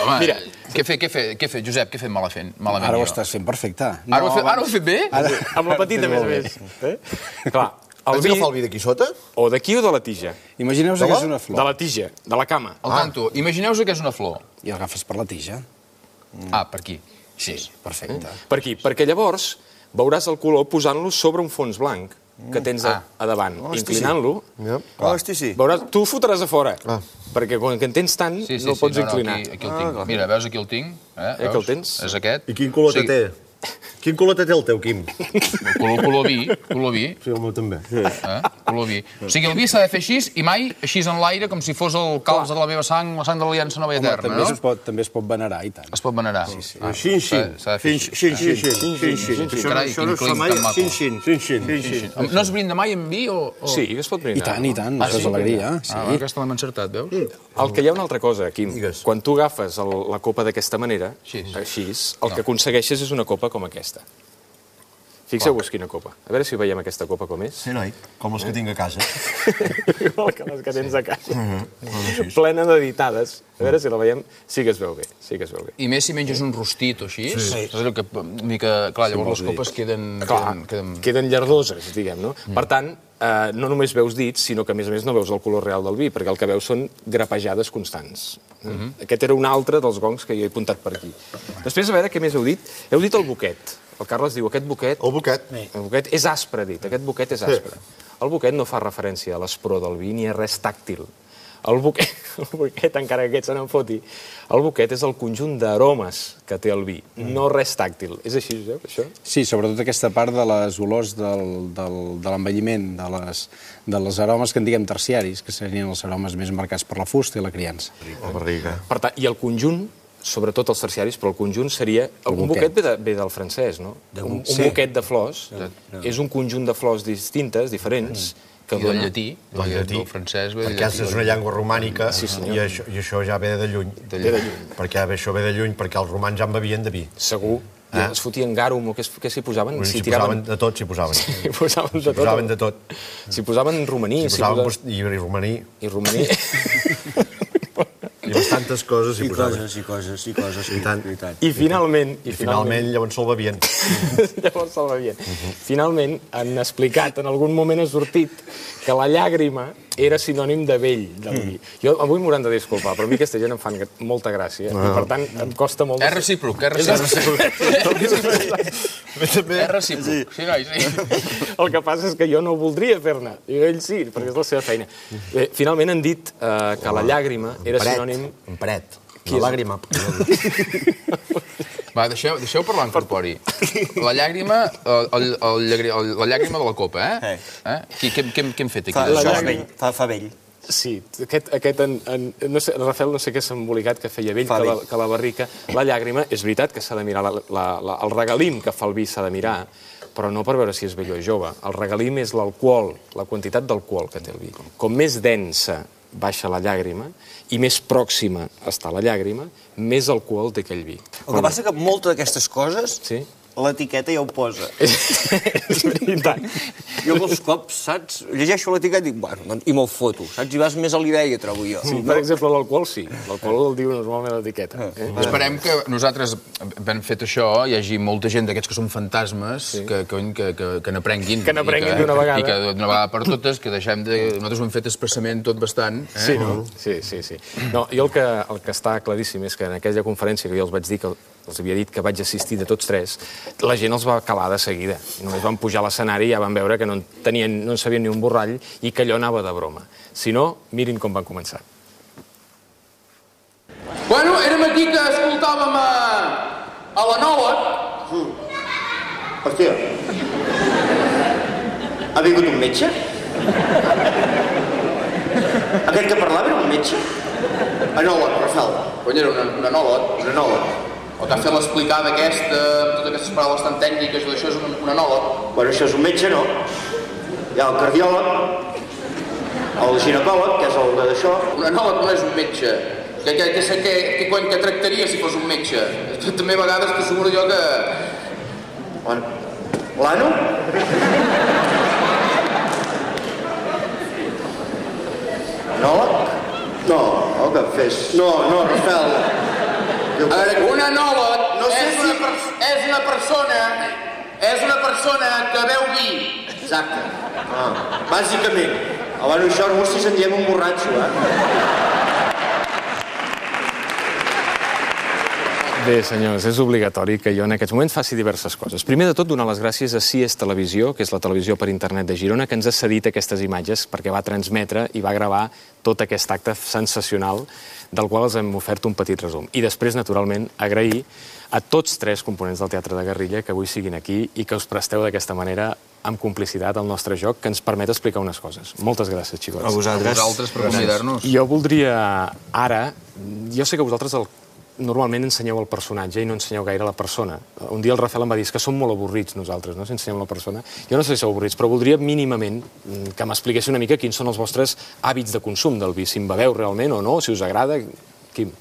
Home, Mira, què he fet, què he fet, què he fet, Josep, què he fet malament? Ara ho estàs fent perfecte. Ara ho he fet bé? Amb la petita, més a més. Clar, el vi... agafar el vi d'aquí sota? O d'aquí o de la tija? Imagineu-vos que és una flor. De la tija, de la cama. Al tanto, imagineu-vos que és una flor. I l'agafes per la tija. Ah, per aquí. Sí, perfecte. Per aquí, perquè llavors veuràs el color posant-lo sobre un fons blanc que tens a, a davant, inclinant-lo. Hosti, sí. Veuràs, tu ho fotràs a fora, perquè quan en tens tant no el pots inclinar. Aquí el tinc. Mira, veus aquí el tinc? Eh, que el tens? És aquest. I quin color té? Quin color té el teu, Quim? Color, color vi, color vi. Sí, el meu també. Eh? Color vi. O sigui, el vi s'ha de fer així i mai així en l'aire, com si fos el calç de la meva sang, la sang de l'Aliança Nova i Eterna, no? Es pot, també es pot venerar, i tant. Es pot venerar. Sí, sí. Xin, xin. S'ha de fer així. Xin, xin, xin, xin, xin. Això no es fa mai. Xin, xin, xin, xin. No es brinda mai amb vi o...? Sí, es pot brindar. I tant, i tant, això és alegria. Ah, aquesta l'hem encertat, veus? El que hi ha una altra cosa, Quim. Quan tu agafes la copa d'aquesta manera, així, el que aconsegueixes és una copa com aquesta. Fixeu-vos quina copa. A veure si veiem aquesta copa com és. Sí, noi, com les que tinc a casa. Igual que les que tens a casa. Plena d'editades. A veure si la veiem. Sí que es veu bé, sí que es veu bé. I més si menges un rostit o així. Sí. És el que... Clar, llavors les copes queden... Queden llardoses, diguem, no? Per tant, no només veus dits, sinó que a més a més no veus el color real del vi, perquè el que veus són grapejades constants. Aquest era un altre dels gongs que jo he apuntat per aquí. Després, a veure, què més heu dit? Heu dit el boquet. El Carles diu, aquest boquet... El boquet. El boquet és aspre, dit. Aquest boquet és aspre. El boquet no fa referència a l'espror del vi ni a res tàctil. El boquet, el boquet, encara que aquest se n'en foti, el boquet és el conjunt d'aromes que té el vi, no res tàctil. És així, Josep, això? Sí, sobretot aquesta part de les olors del, del, de l'envelliment, de les, de les aromes que en diguem terciaris, que serien els aromes més marcats per la fusta i la criança. La barriga. Per tant, i el conjunt, sobretot els terciaris, però el conjunt seria... Un boquet ve, de, ve del francès, no? Un, un boquet de flors és un conjunt de flors distintes, diferents, que I del llatí, del llatí, del francès ve del llatí. Perquè és una llengua romànica i això ja ve de lluny. Perquè això ve de lluny, perquè els romans ja en bevien de vi. Segur. I es fotien garum, o què s'hi posaven? S'hi posaven de tot, s'hi posaven. S'hi posaven de tot. S'hi posaven de tot. S'hi posaven romaní. S'hi posaven i romaní. I romaní. I bastantes coses s'hi posaven. I coses, i coses, i tant. I finalment... I finalment llavors se'l bevien. Llavors se'l bevien. Finalment han explicat, en algun moment ha sortit, que la llàgrima era sinònim de vell del vi. Jo avui m'hauran de disculpar, però a mi aquesta gent em fan molta gràcia. I per tant em costa molt... És recíproc, és recíproc. És recíproc. Sí, noi, sí. El que passa és que jo no ho voldria fer-ne. I ell sí, perquè és la seva feina. Finalment han dit que la llàgrima era sinònim... En paret. Una làgrima. Va, deixeu, deixeu parlar en corpori. La llàgrima, el, el, el, la llàgrima de la copa, eh? eh? Qui, què, què, què hem fet aquí? Fa, això és vell, fa, fa vell. Sí, aquest, aquest en, en, no sé, Rafael no sé què s'ha embolicat que feia vell, que la, que la barrica. La llàgrima, és veritat que s'ha de mirar, la, la, la, el regalim que fa el vi s'ha de mirar, però no per veure si és vell o jove. El regalim és l'alcohol, la quantitat d'alcohol que té el vi. Com més densa baixa la llàgrima i més pròxima està la llàgrima, més alcohol té aquell vi. El que passa que moltes d'aquestes coses, sí? L'etiqueta ja ho posa. És veritat. Jo molts cops, saps, llegeixo l'etiqueta i dic, bueno, i me'l foto, saps? I vas més a l'idea, trobo jo. Sí, per exemple, l'alcohol sí. L'alcohol el diu normalment a l'etiqueta. Eh? Esperem que nosaltres, ben fet això, hi hagi molta gent d'aquests que són fantasmes sí. que, que, que, que n'aprenguin. Que n'aprenguin d'una vegada. I que d'una vegada per totes, que deixem de... Nosaltres ho hem fet expressament tot bastant. Eh? Sí, no? Sí, sí, sí. No, jo el que, el que està claríssim és que en aquella conferència que jo els vaig dir que els havia dit que vaig assistir de tots tres, la gent els va calar de seguida. Només van pujar a l'escenari i ja van veure que no en, tenien, no en sabien ni un borrall i que allò anava de broma. Si no, mirin com van començar. Bueno, aquí que escoltàvem a, a l'anòleg. Mm. Hòstia. Ha vingut un metge? Aquest que parlava era un metge? Anòleg, Rafael. Cony, era un, un anòleg. Un anòleg. El que ha fet l'explicada aquesta, amb totes aquestes paraules tan tècniques, i això és un, un anòleg. Bueno, això és un metge, no? Hi ha el cardiòleg, el ginecòleg, que és el d'això. Un anòleg no és un metge. Què, què, què, què, què, què tractaria si fos un metge? També a vegades t'asseguro jo que... L'ano? Anòleg? No, el que fes... No, no, Rafael. A veure, un anòleg no sé és, si... una per, és una persona... És una persona que beu vi. Exacte. Ah, bàsicament. Abans això, no si se'n diem un borratxo, eh? Bé, senyors, és obligatori que jo en aquests moments faci diverses coses. Primer de tot, donar les gràcies a C I E S Televisió, que és la televisió per internet de Girona, que ens ha cedit aquestes imatges perquè va transmetre i va gravar tot aquest acte sensacional del qual els hem ofert un petit resum. I després, naturalment, agrair a tots tres components del Teatre de Guerrilla que avui siguin aquí i que us presteu d'aquesta manera amb complicitat al nostre joc, que ens permet explicar unes coses. Moltes gràcies, xicots. A vosaltres. A vosaltres per convidar-nos. Jo voldria ara... Jo sé que vosaltres el normalment ensenyeu el personatge i no ensenyeu gaire la persona. Un dia el Rafael em va dir que som molt avorrits nosaltres, no?, si ensenyem la persona. Jo no sé si sou avorrits, però voldria mínimament que m'expliquéssiu una mica quins són els vostres hàbits de consum del vi, si en beveu realment o no, si us agrada. Quim?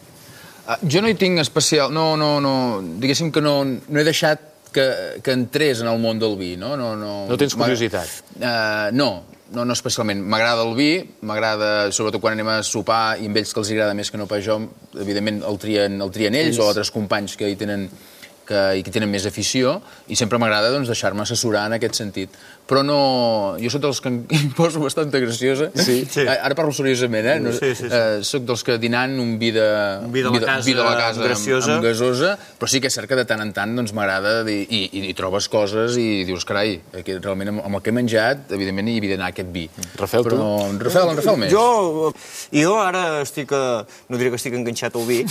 Uh, jo no hi tinc especial... No, no, no... Diguéssim que no, no he deixat que, que entrés en el món del vi, no? No, no, no tens curiositat? Uh, no. No, no especialment. M'agrada el vi, m'agrada, sobretot quan anem a sopar, i amb ells que els agrada més que no pas jo, evidentment el trien, el trien ells o altres companys que hi tenen, que, i que tenen més afició, i sempre m'agrada doncs, deixar-me assessorar en aquest sentit. Però no... Jo soc dels que em poso bastant graciosa. Sí. Sí. Ara parlo seriosament, eh? No, sí, sí, sí. Eh, soc dels que dinant un vi de, un vi de la casa, vi de la casa graciosa. Amb, amb gasosa, però sí que és cert que de tant en tant doncs, m'agrada i, i, i trobes coses i dius, carai, que realment amb, amb el que he menjat, evidentment hi havia d'anar aquest vi. Rafael, però, tu? En Rafael, en Rafael més. Jo, jo ara estic, a, no diré que estic enganxat al vi,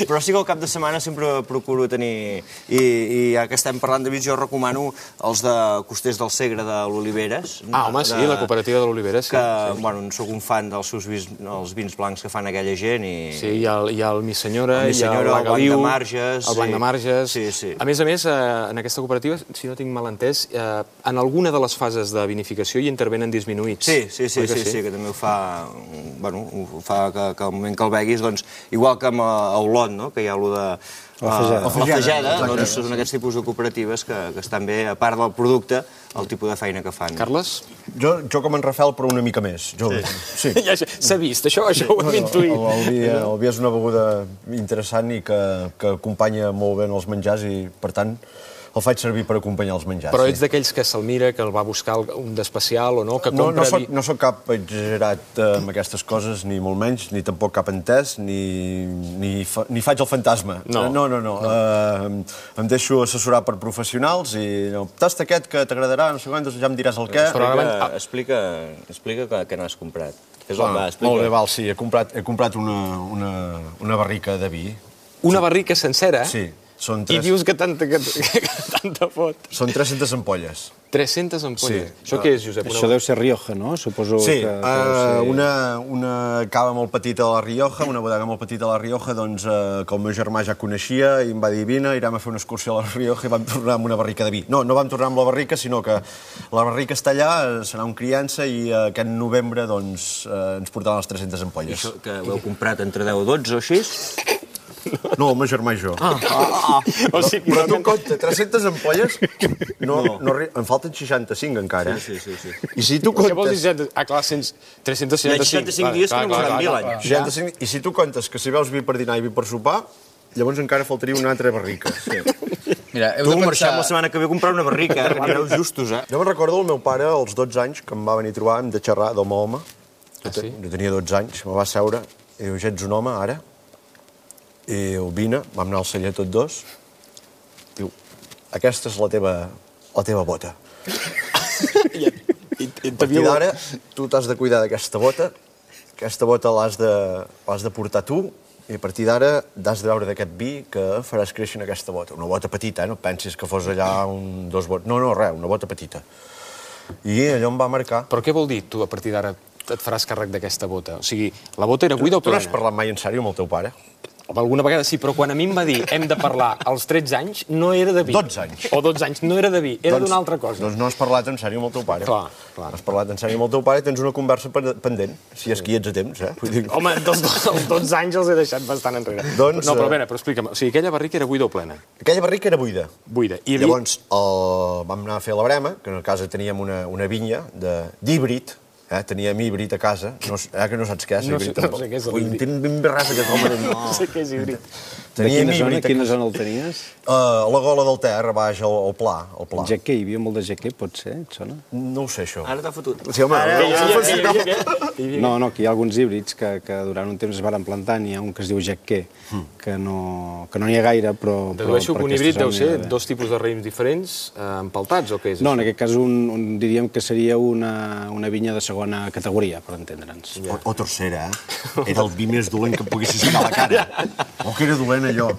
però sí que al cap de setmana sempre procuro tenir, i, i ja que estem parlant de vins, jo recomano els de Costers del Segre de l'Oliveres. Ah, home, sí, la cooperativa de l'Oliveres, sí. Que, sí. bueno, sóc un fan dels seus vins, els vins blancs que fan aquella gent i... Sí, hi ha el, hi ha el Mi Senyora, el Mi Senyora, hi ha el Blanc de Marges... El Blanc de Marges... Sí, sí. A més a més, en aquesta cooperativa, si no tinc mal entès, en alguna de les fases de vinificació hi intervenen disminuïts. Sí, sí, sí, sí, sí, que també ho fa... Bueno, ho fa que, que al moment que el beguis, doncs, igual que amb Olot, no?, que hi ha allò de... La Fageda, doncs són aquests tipus de cooperatives que, que estan bé, a part del producte, el tipus de feina que fan. Carles? Jo, jo com en Rafael, però una mica més. Jo, sí. Ja, s'ha vist, això, això ho hem intuït. El, el, vi, el vi és una beguda interessant i que, que acompanya molt bé els menjars i, per tant, el faig servir per acompanyar els menjars. Però ets d'aquells que se'l mira, que el va buscar un d'especial o no? Que no, compra... no, soc, no soc cap exagerat eh, amb aquestes coses, ni molt menys, ni tampoc cap entès, ni, ni, fa, ni faig el fantasma. No. No, no, no. no. Eh, em deixo assessorar per professionals i no, tasta aquest que t'agradarà, no sé quant, ja em diràs el què. Explica, explica, explica que, que n'has comprat. És ah, va, molt bé, val, sí. He comprat, he comprat una, una, una barrica de vi. Una barrica sencera? Sí. Són tres... I dius que tanta, que, que tanta fot. Són tres-centes ampolles. tres-centes ampolles? Sí. Això què és, Josep? Això deu ser Rioja, no? Suposo sí, que... Sí, uh, una, una cava molt petita a la Rioja, una bodega molt petita a la Rioja, doncs, uh, que el meu germà ja coneixia i em va dir, vine, irem a fer una excursió a la Rioja i vam tornar amb una barrica de vi. No, no vam tornar amb la barrica, sinó que la barrica està allà, serà un criança i uh, aquest novembre, doncs, uh, ens portaran les tres-centes ampolles. I això que ho heu comprat entre deu o dotze o així? No, el meu germà i jo. Ah, ah, ah. O sigui, però tu compta, tres-centes ampolles, no, no. No, en falten seixanta-cinc encara. Sí, sí, sí. sí. I si tu comptes... Què vols dir? Ah, clar, tres-cents seixanta-cinc. seixanta-cinc dies que no veuran vi l'any. seixanta-cinc, i si tu comptes que si veus vi per dinar i vi per sopar, llavors encara faltaria una altra barrica. Sí. Mira, heu tu de marxem pensar... la setmana que ve a comprar una barrica, eh? Aneu justos, eh? Jo me'n recordo el meu pare, als dotze anys, que em va venir a trobar, hem de xerrar del meu home. Ah, sí? Jo tenia dotze anys, me va seure, i diu, ja ets un home, ara? I diu, vine, vam anar al celler tots dos. Diu, aquesta és la teva, la teva bota. I, i, i a partir d'ara, tu t'has de cuidar d'aquesta bota, aquesta bota l'has de, l'has de portar tu, i a partir d'ara has de veure d'aquest vi que faràs créixer en aquesta bota. Una bota petita, eh? No pensis que fos allà un, dos bots. No, no, res, una bota petita. I allò em va marcar. Però què vol dir, tu, a partir d'ara et faràs càrrec d'aquesta bota? O sigui, la bota era buida o Tu plena? n'has parlat mai en sèrio amb el teu pare? Alguna vegada sí, però quan a mi em va dir hem de parlar als tretze anys, no era de vi. dotze anys. O dotze anys, no era de vi, era Doncs- d'una altra cosa. Doncs no has parlat en sèrio amb el teu pare. Clar, clar. Has parlat en sèrio amb el teu pare i tens una conversa pen- pendent, si és que hi ets a temps, eh? Vull dir... Home, dels, els dotze anys els he deixat bastant enrere. Doncs, no, però a eh, veure, però explica'm. O sigui, aquella barrica era buida o plena? Aquella barrica era buida. Buida. I hi havia... Llavors, el... vam anar a fer la brema, que en casa teníem una, una vinya de- d'híbrid, eh? Teníem híbrid a casa, no, eh, que no saps què és No sé- híbrid. no sé què és Ui, l'híbrid. entenc ben bé res aquest home. No. No sé què és híbrid. De Teníem quina zona, híbrid a quina casa. zona el tenies? Uh, a la gola del Ter, a baix, al, al pla. Al pla. Jaquer, hi havia molt de jaquer, pot ser, et sona? No ho sé, això. Ara t'ha fotut. Sí, home, Ara- no, Hi no, havia- no, hi havia- hi havia- hi havia- No, no, que hi ha alguns híbrids que, que durant un temps es van plantar, n'hi ha un que es diu jaquer, que no, que no n'hi ha gaire, però... però Dedueixo per que un aquesta híbrid deu zona ser n'hi ha d'haver. dos tipus de raïms diferents eh, empaltats, o què és No, en això? aquest cas un, un, diríem que seria una, una vinya de segona categoria, per entendre'ns. O, o tercera, eh? Era el vi més dolent que em poguessis ficar a la cara. O que era dolent, allò.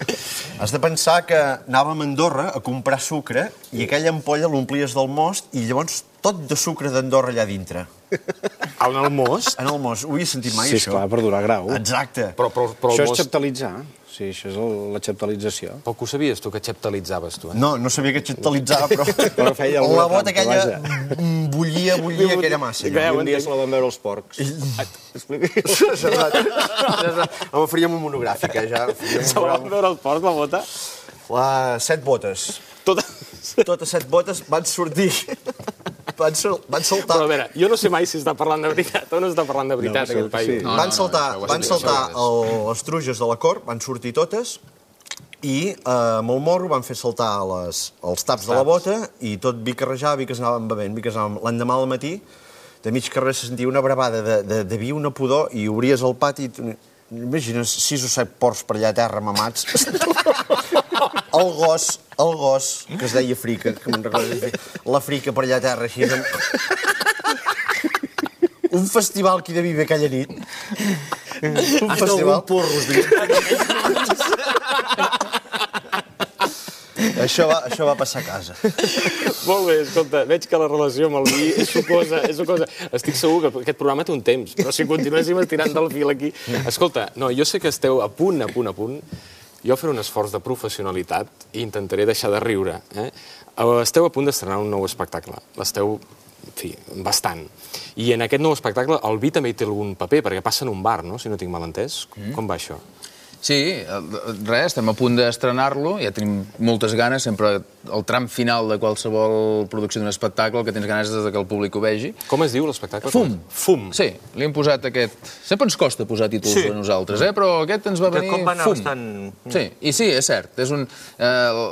Has de pensar que anàvem a Andorra a comprar sucre i aquella ampolla l'omplies del most i llavors tot de sucre d'Andorra allà dintre. En el most? En el most. Ho havia sentit mai, Sí, això? esclar, per donar grau. Exacte. Però, però, però Això el és most... xeptalitzar. Sí, això és el- la xeptalització. Però que ho sabies tu, que xeptalitzaves tu, eh? No, no sabia que xeptalitzava, però... Però feia alguna la bota trampa, aquella vaja. mm, bullia, bullia aquella massa. Ja allò. ho Un dia entenc. se la van veure els porcs. Home, faríem un monogràfic, eh, ja. Faríem un Se la van monogràfic. veure els porcs, la bota? La... Set botes. Tota... Totes set botes van sortir... Van, sol... van saltar... Però a veure, jo no sé mai si està parlant de veritat o no està parlant de veritat, No, aquest sí. paio. No, van no, saltar, no, això ho has van dit, saltar això ho el, les truges de la cort, van sortir totes, i eh, amb el morro van fer saltar les, els taps de la bota i tot vi que rejava, vi que s'anaven bevent, vi que s'anaven... L'endemà al matí, de mig carrer se sentia una bravada de, de, de vi, una pudor, i obries el pati i... Imagines sis o set porcs per allà a terra mamats. El gos, el gos, que es deia Frica, que me'n recordo, la Frica per allà a terra, així... Amb... Un festival que hi devia haver aquella nit. Un festival... porros. Això va, això va passar a casa. Molt bé, escolta, veig que la relació amb el vi és sucosa, és sucosa. Estic segur que aquest programa té un temps, però si continuéssim estirant del fil aquí... Escolta, no, jo sé que esteu a punt, a punt, a punt. Jo faré un esforç de professionalitat i intentaré deixar de riure. Eh? Esteu a punt d'estrenar un nou espectacle. L'esteu, en fi, bastant. I en aquest nou espectacle el vi també hi té algun paper, perquè passa en un bar, no?, si no tinc mal entès. Mm. Com va això? Sí, res, estem a punt d'estrenar-lo, ja tenim moltes ganes, sempre el tram final de qualsevol producció d'un espectacle, el que tens ganes és de que el públic ho vegi. Com es diu l'espectacle? Fum. Fum. Sí, li hem posat aquest... Sempre ens costa posar títols Sí. a nosaltres, eh? Però aquest ens va Que venir com va anar Fum. bastant- Sí, i sí, és cert. És un, eh,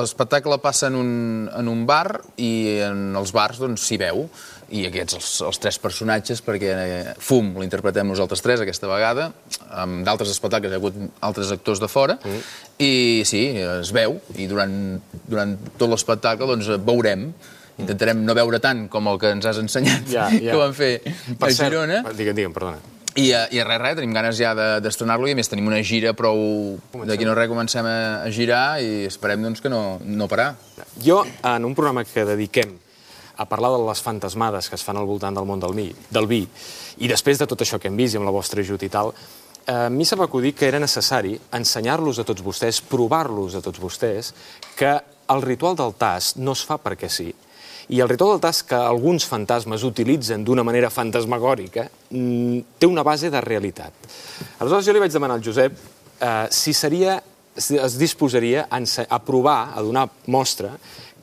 l'espectacle passa en un, en un bar i en els bars doncs s'hi veu. I aquests, els, els tres personatges, perquè eh, Fum l'interpretem nosaltres tres aquesta vegada, amb d'altres espectacles hi ha hagut altres actors de fora, mm. i sí, es veu, i durant, durant tot l'espectacle doncs veurem. Intentarem no veure tant com el que ens has ensenyat, Ja, ja. que van fer Per a cert, Girona. Digue'm, digue'm, perdona. I, eh, i res, res, tenim ganes ja de- d'estrenar-lo i a més tenim una gira prou... D'aquí no res comencem a, a girar i esperem doncs, que no, no parar. Jo, en un programa que dediquem a parlar de les fantasmades que es fan al voltant del món del vi, del vi, i després de tot això que hem vist i amb la vostra ajut i tal, eh, a mi se m'acudí que era necessari ensenyar-los a tots vostès, provar-los a tots vostès, que el ritual del tast no es fa perquè sí. I el ritual del tast que alguns fantasmes utilitzen d'una manera fantasmagòrica té una base de realitat. Aleshores jo li vaig demanar al Josep eh, si seria, si es disposaria a, a provar, a donar mostra,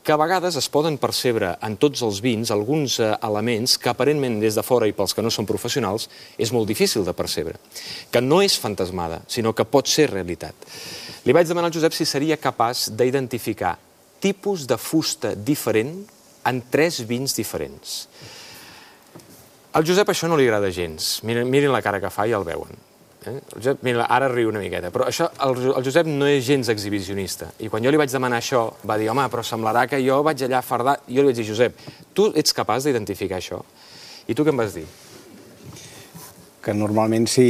que a vegades es poden percebre en tots els vins alguns eh, elements que aparentment des de fora i pels que no són professionals és molt difícil de percebre. Que no és fantasmada, sinó que pot ser realitat. Li vaig demanar al Josep si seria capaç d'identificar tipus de fusta diferent en tres vins diferents. Al Josep això no li agrada gens. Miren, mirin la cara que fa i el veuen. Eh? El Josep, mira, ara riu una miqueta, però això, el, el Josep no és gens exhibicionista. I quan jo li vaig demanar això, va dir, home, però semblarà que jo vaig allà a fardar... Jo li vaig dir, Josep, tu ets capaç d'identificar això? I tu què em vas dir? Que normalment sí,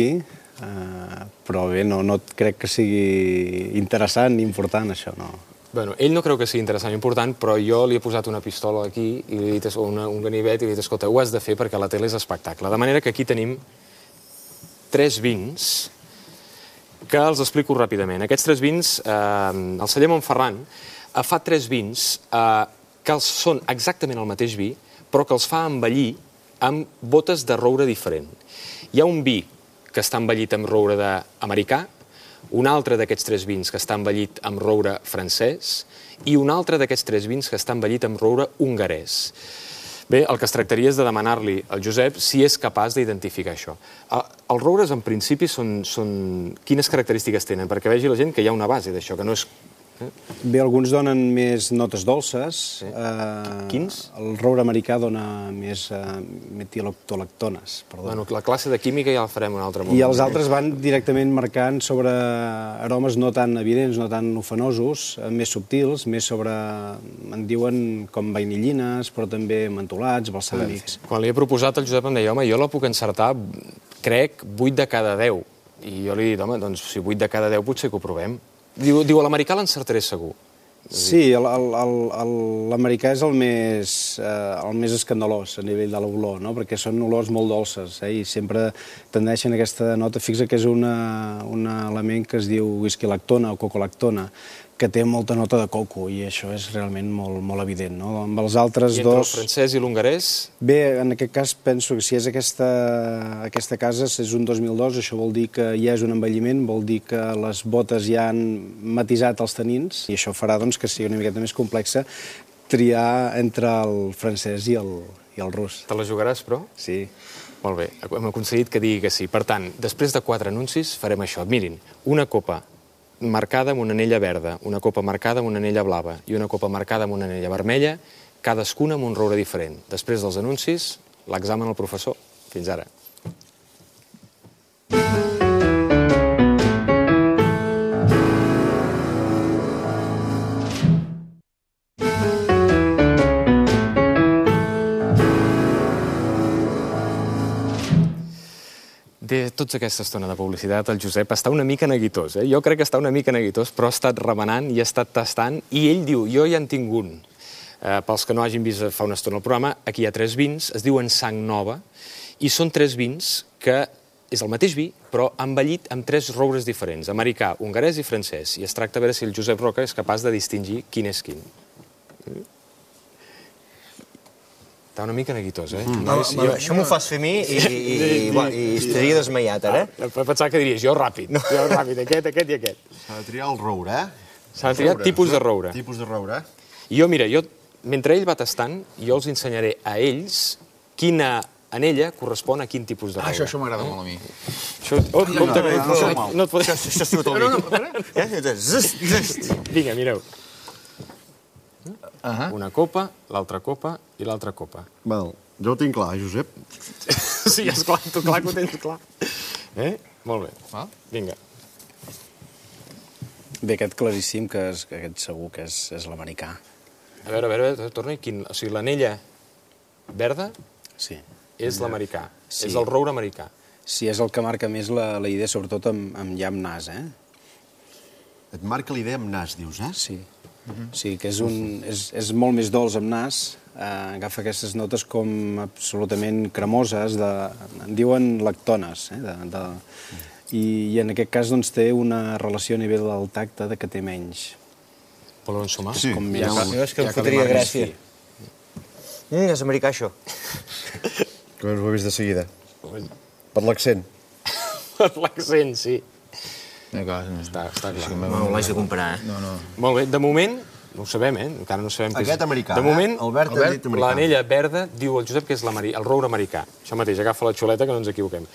Uh, però bé, no, no crec que sigui interessant ni important, això, no. Bueno, ell no creu que sigui interessant i important, però jo li he posat una pistola aquí, i li he dit, o una, un ganivet, i li he dit, escolta, ho has de fer perquè la tele és espectacle. De manera que aquí tenim tres vins que els explico ràpidament. Aquests tres vins, eh, el celler Montferran eh, fa tres vins eh, que els són exactament el mateix vi, però que els fa envellir amb botes de roure diferent. Hi ha un vi que està envellit amb roure americà, un altre d'aquests tres vins que està envellit amb roure francès i un altre d'aquests tres vins que està envellit amb roure hongarès. Bé, el que es tractaria és de demanar-li al Josep si és capaç d'identificar això. Els roures, en principi, són, són... Quines característiques tenen? Perquè vegi la gent que hi ha una base d'això, que no és... Bé, alguns donen més notes dolces. Sí. Eh, Quins? El roure americà dona més eh, metiloctolactones. Perdó. Bueno, la classe de química ja la farem un altre moment. I els altres van directament marcant sobre aromes no tan evidents, no tan ofenosos, eh, més subtils, més sobre, en diuen, com vainillines, però també mentolats, balsàmics. Quan li he proposat, el Josep em deia, home, jo la puc encertar, crec, vuit de cada deu. I jo li he dit, home, doncs si vuit de cada deu potser que ho provem. Diu, diu a l'americà l'encertaré segur. Sí, l'americà és el més, eh, el més escandalós a nivell de l'olor, no? Perquè són olors molt dolces, eh? I sempre tendeixen a aquesta nota. Fixa que és una, un element que es diu whisky-lactona o cocolactona, que té molta nota de coco, i això és realment molt, molt evident, no? Amb els altres I entre dos... el francès i l'hongarès? Bé, en aquest cas penso que si és aquesta, aquesta casa, és un dos mil dos, això vol dir que ja és un envelliment, vol dir que les botes ja han matisat els tanins, i això farà doncs, que sigui una miqueta més complexa triar entre el francès i el, i el rus. Te la jugaràs, però? Sí. Molt bé, hem aconseguit que digui que sí. Per tant, després de quatre anuncis farem això. Mirin, una copa marcada amb una anella verda, una copa marcada amb una anella blava i una copa marcada amb una anella vermella, cadascuna amb un roure diferent. Després dels anuncis, l'examen al professor. Fins ara. De tota aquesta estona de publicitat, el Josep està una mica neguitós. Eh? Jo crec que està una mica neguitós, però ha estat remenant i ha estat tastant, i ell diu, jo ja en tinc un. Eh, pels que no hagin vist fa una estona el programa, aquí hi ha tres vins, es diuen Sang Nova, i són tres vins que és el mateix vi, però envellit amb tres roures diferents, americà, hongarès i francès, i es tracta de veure si el Josep Roca és capaç de distingir quin és quin. Està una mica neguitós, eh? Mm. No, jo... Això m'ho fas fer a mi i, i, i, i, i estaria desmaiat, ara. Ah, pensava que diries, jo ràpid, no. jo ràpid, aquest, aquest i aquest. S'ha de triar el roure, eh? S'ha de triar tipus de roure. Tipus de roure, eh? I jo, mira, jo, mentre ell va tastant, jo els ensenyaré a ells quina anella correspon a quin tipus de roure. Ah, això, això m'agrada molt a mi. Això, oh, compte, no, no, no, no et podré... Això és tot el vi. Vinga, mireu. Uh-huh. Una copa, l'altra copa i l'altra copa. Val. Jo ho tinc clar, Josep. Sí, esclar, tu clar que ho tens clar. Eh? Molt bé. Val. Vinga. Bé, aquest claríssim, que és, aquest segur que és, és l'americà. A veure, a veure, torna-hi. Quin... O sigui, l'anella verda sí. és l'americà. Sí. És el roure americà. Sí, és el que marca més la, la idea, sobretot amb, amb ja amb nas, eh? Et marca l'idea amb nas, dius, eh? Sí. Uh-huh. Sí, que és, un, és, és molt més dolç amb nas, eh, agafa aquestes notes com absolutament cremoses, de, en diuen lactones, eh, de, de, i, i en aquest cas doncs, té una relació a nivell del tacte de que té menys. Voleu ensumar? Sí. Com més, Ja, jo és que em fotria gràcia. Mm, és americà, això. Com ho he vist de seguida. Per l'accent. Per l'accent, sí. Està, està clar. No l'haig de comparar, eh? No, no. Molt bé, de moment, no ho sabem, eh? Encara no sabem què és. Aquest americà, de moment, eh? Albert ha dit americà. L'anella verda diu el Josep que és el roure americà. Això mateix, agafa la xuleta que no ens equivoquem.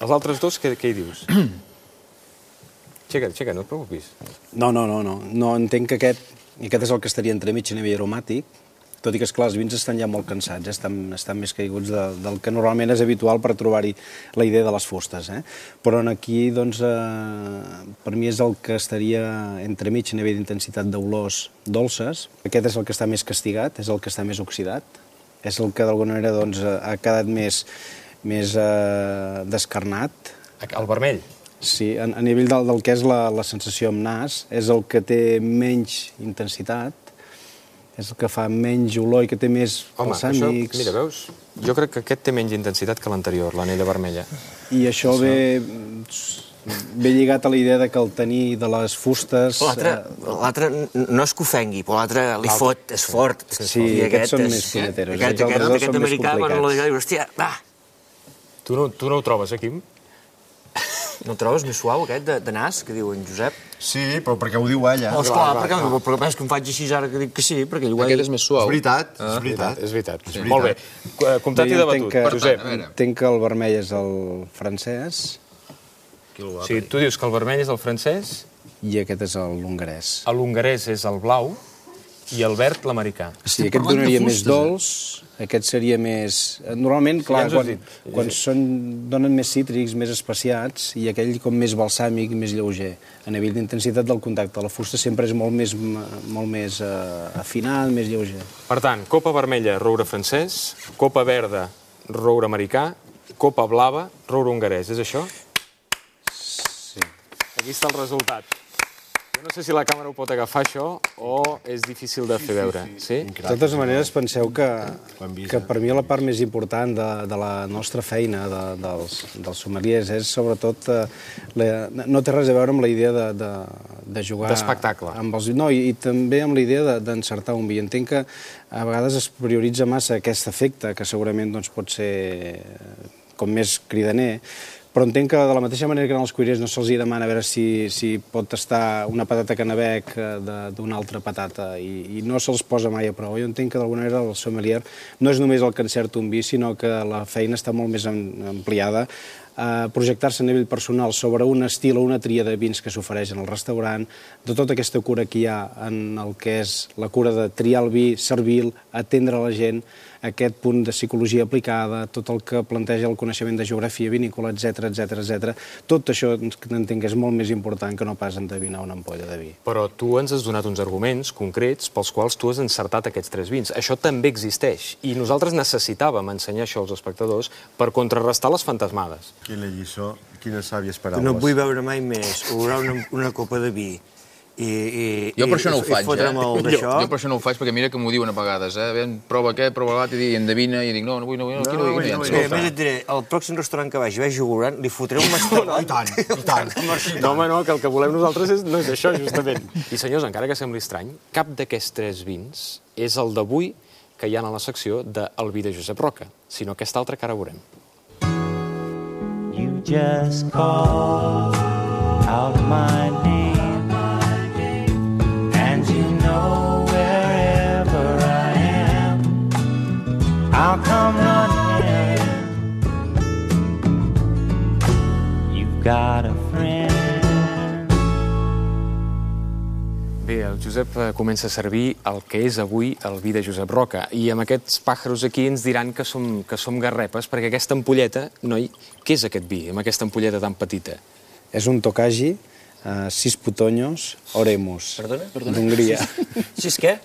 Els altres dos, què, què hi dius? Aixeca, aixeca, no et preocupis. No, no, no, no. No entenc que aquest, i aquest és el que estaria entremig a nivell aromàtic, tot i que, esclar, els vins estan ja molt cansats, eh? estan, estan més caiguts de, del que normalment és habitual per trobar-hi la idea de les fustes. Eh? Però aquí, doncs, eh, per mi és el que estaria entremig a nivell d'intensitat d'olors dolces. Aquest és el que està més castigat, és el que està més oxidat, és el que d'alguna manera doncs, ha quedat més, més eh, descarnat, El vermell. Sí, a, a nivell del, del que és la, la sensació amb nas, és el que té menys intensitat, és el que fa menys olor i que té més Home, balsàmics. això, mira, veus? Jo crec que aquest té menys intensitat que l'anterior, l'anella vermella. I això ve, ve lligat a la idea de que el tenir de les fustes... L'altre no és que ofengui, però l'altre li fot, és fort. Sí, aquests són més puneteros. Aquest, aquest, aquest, aquest americà, quan la diu, hòstia, va! Tu no, tu no ho trobes, eh, Quim? No el trobes més suau, aquest, de, de nas, que diu en Josep? Sí, però perquè ho diu ella. Oh, esclar, perquè, però és que em faig així ara que dic que sí, perquè ell ho ha dit. Aquest és més suau. És veritat, és veritat. És veritat. És veritat. Molt bé. Comptat i debatut. Josep. Entenc que el vermell és el francès. O sigui, tu dius que el vermell és el francès... I aquest és l'hongarès. L'hongarès és el blau i el verd l'americà. Sí, aquest donaria més dolç, aquest seria més... Normalment, clar, quan, quan són, donen més cítrics, més especiats, i aquell com més balsàmic, més lleuger. A nivell d'intensitat del contacte, la fusta sempre és molt més, molt més uh, afinat, més lleuger. Per tant, copa vermella, roure francès, copa verda, roure americà, copa blava, roure hongarès. És això? Sí. Aquí està el resultat. Jo no sé si la càmera ho pot agafar, això, o és difícil de fer veure. Sí? De totes maneres, penseu que, que per mi la part més important de, de la nostra feina, de, dels, dels sommeliers, és sobretot... Eh, la, no té res a veure amb la idea de, de, de jugar... D'espectacle. Amb els, no, i, i també amb la idea d'encertar un vi. Entenc que a vegades es prioritza massa aquest efecte, que segurament doncs, pot ser com més cridaner, però entenc que de la mateixa manera que als cuirers no se'ls demana a veure si, si pot tastar una patata canabec d'una altra patata i, i no se'ls posa mai a prova. Jo entenc que d'alguna manera el sommelier no és només el que encerta un vi, sinó que la feina està molt més ampliada a projectar-se a nivell personal sobre un estil o una tria de vins que s'ofereixen al restaurant, de tota aquesta cura que hi ha en el que és la cura de triar el vi, servir-lo, atendre la gent, aquest punt de psicologia aplicada, tot el que planteja el coneixement de geografia vinícola, etcètera, etcètera, etcètera. Tot això entenc que és molt més important que no pas endevinar una ampolla de vi. Però tu ens has donat uns arguments concrets pels quals tu has encertat aquests tres vins. Això també existeix i nosaltres necessitàvem ensenyar això als espectadors per contrarrestar les fantasmades. Quina lliçó, quines sàvies paraules. No vull veure mai més olorar una, una copa de vi i, i, jo per això no ho faig, eh? Jo, jo per això no ho faig, perquè mira que m'ho diuen a vegades, eh? Ben, prova aquest, prova l'altre, i endevina, i dic, no, no vull, no vull, no, aquí no vull, no vull. A més et diré, al pròxim restaurant que vagi, vagi olorant, li fotré un mastonat. I tant, i tant. No, home, no, que el que volem nosaltres és, no és això, justament. I senyors, encara que sembli estrany, cap d'aquests tres vins és el d'avui que hi ha a la secció del vi de Josep Roca, sinó aquest altre que ara veurem. You just call out my name, and you know wherever I am, I'll come running. You've got a friend. Bé, el Josep comença a servir el que és avui el vi de Josep Roca. I amb aquests pàjaros aquí ens diran que som, que som garrepes, perquè aquesta ampolleta, noi, què és aquest vi, amb aquesta ampolleta tan petita? És un Tokaji, uh, sis putoños, oremus. Perdona? D'Hongria. Sis què?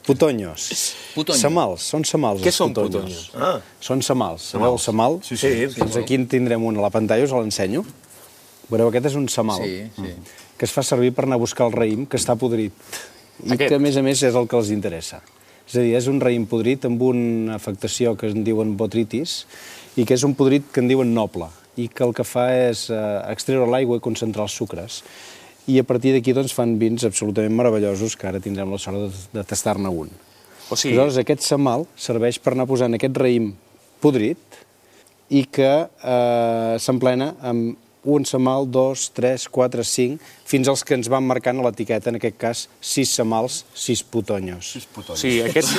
Putoños. Putoño. Samals, són samals. Què els són putoños? putoños? Ah. Són samals. Sabeu el samal? Sí, sí. Doncs aquí en tindrem un a la pantalla, us l'ensenyo. Veureu, aquest és un samal. Sí, sí. Que es fa servir per anar a buscar el raïm, que està podrit. I Aquest? que, a més a més, és el que els interessa. És a dir, és un raïm podrit amb una afectació que en diuen botritis i que és un podrit que en diuen noble i que el que fa és eh, extreure l'aigua i concentrar els sucres. I a partir d'aquí doncs, fan vins absolutament meravellosos que ara tindrem la sort de, de tastar-ne un. O sigui... Aleshores, aquest samal serveix per anar posant aquest raïm podrit i que eh, s'emplena amb un samal, dos, tres, quatre, cinc, fins als que ens van marcant a l'etiqueta, en aquest cas, sis samals, sis putoños. Sis putoños. Sí, aquest...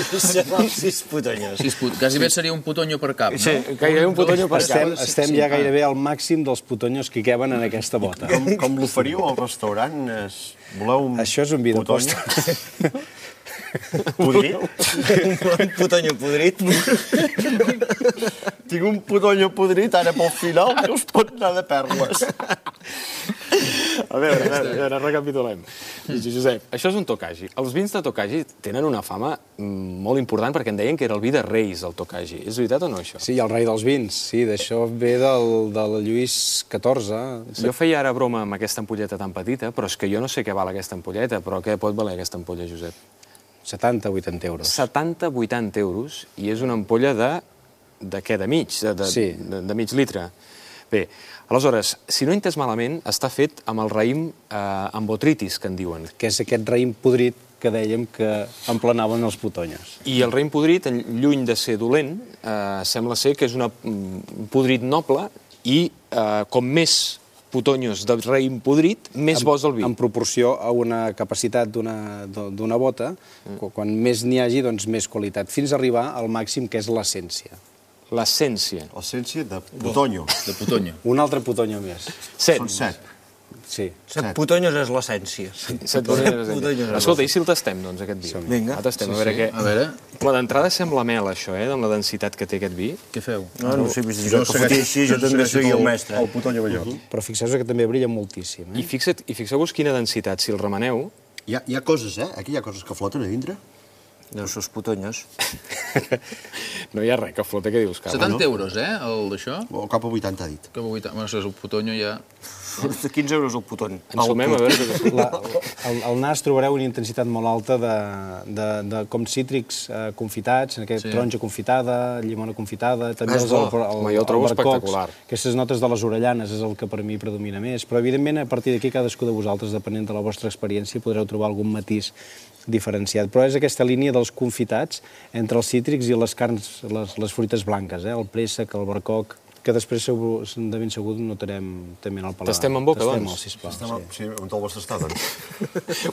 Sis putoños. Sis put... Quasi bé seria un putonyo per cap, no? Sí, gairebé un putonyo per Estem, cap. estem ja gairebé al màxim dels putoños que hi caben en aquesta bota. Com, com l'oferiu al restaurant? Es... Voleu un Això és un vi de putonyo? postre. Podrit? Un putonyo podrit. Tinc un putonyo podrit ara pel final que us pot anar de perles. A veure, a veure, a veure, recapitulem. Josep, això és un Tokaji. Els vins de Tokaji tenen una fama molt important perquè en deien que era el vi de reis, el Tokaji. És veritat o no, això? Sí, el rei dels vins, sí, d'això ve del, del Lluís catorze. Jo feia ara broma amb aquesta ampolleta tan petita, però és que jo no sé què val aquesta ampolleta, però què pot valer aquesta ampolla, Josep? setanta a vuitanta euros. setanta a vuitanta euros, i és una ampolla de... de què? De mig? De, de, Sí. de, de mig litre. Bé, aleshores, si no he entès malament, està fet amb el raïm eh, amb botritis, que en diuen. Que és aquest raïm podrit que dèiem que emplenaven els putonyos. I el raïm podrit, lluny de ser dolent, eh, sembla ser que és una, un podrit noble i eh, com més putonyos de raïm podrit, més bo és el vi. En proporció a una capacitat d'una d'una bota, mm. quan més n'hi hagi, doncs més qualitat, fins a arribar al màxim que és l'essència. L'essència. L'essència de putonyo. De putonyo. Un altre putonyo més. Set. Són set. Sí. Set putonyos és l'essència. Set putonyos. Escolta, i si el tastem, doncs, aquest vi? Vinga. El tastem, a veure què... A veure, Home, d'entrada sembla mel, això, eh, amb la densitat que té aquest vi. què feu? No, no sé, vist Jo jo que fotia així, jo també soy el mestre. El putonyo major. Però fixeu-vos que també brilla moltíssim. I, Eh? fixa't, i fixeu-vos quina densitat, si el remeneu... Hi ha, hi ha coses, eh? Aquí hi ha coses que floten a dintre. No, sos putonyos. No hi ha res que flota, què dius, Carles? setanta euros, eh, el d'això? O cap a vuitanta, ha dit. Que vuitanta... Bueno, això és el putonyo ja... quinze euros el puton. Ens sumem a veure... Que... La, el, el nas trobareu una intensitat molt alta de, de, de com cítrics eh, confitats, en aquest Sí. sí. taronja confitada, llimona confitada, també És els bo. el, el, Home, jo el trobo albercocs. espectacular. Aquestes notes de les orellanes és el que per mi predomina més, però evidentment a partir d'aquí cadascú de vosaltres, depenent de la vostra experiència, podreu trobar algun matís diferenciat. Però és aquesta línia dels confitats entre els cítrics i les carns, les, les fruites blanques, eh? El préssec, el barcoc, que després segur, de ben segur notarem també en el paladar. Tastem en boca, Tastem-el, doncs? sisplau. Estem, Sí. sí, on te'l vols tastar, doncs?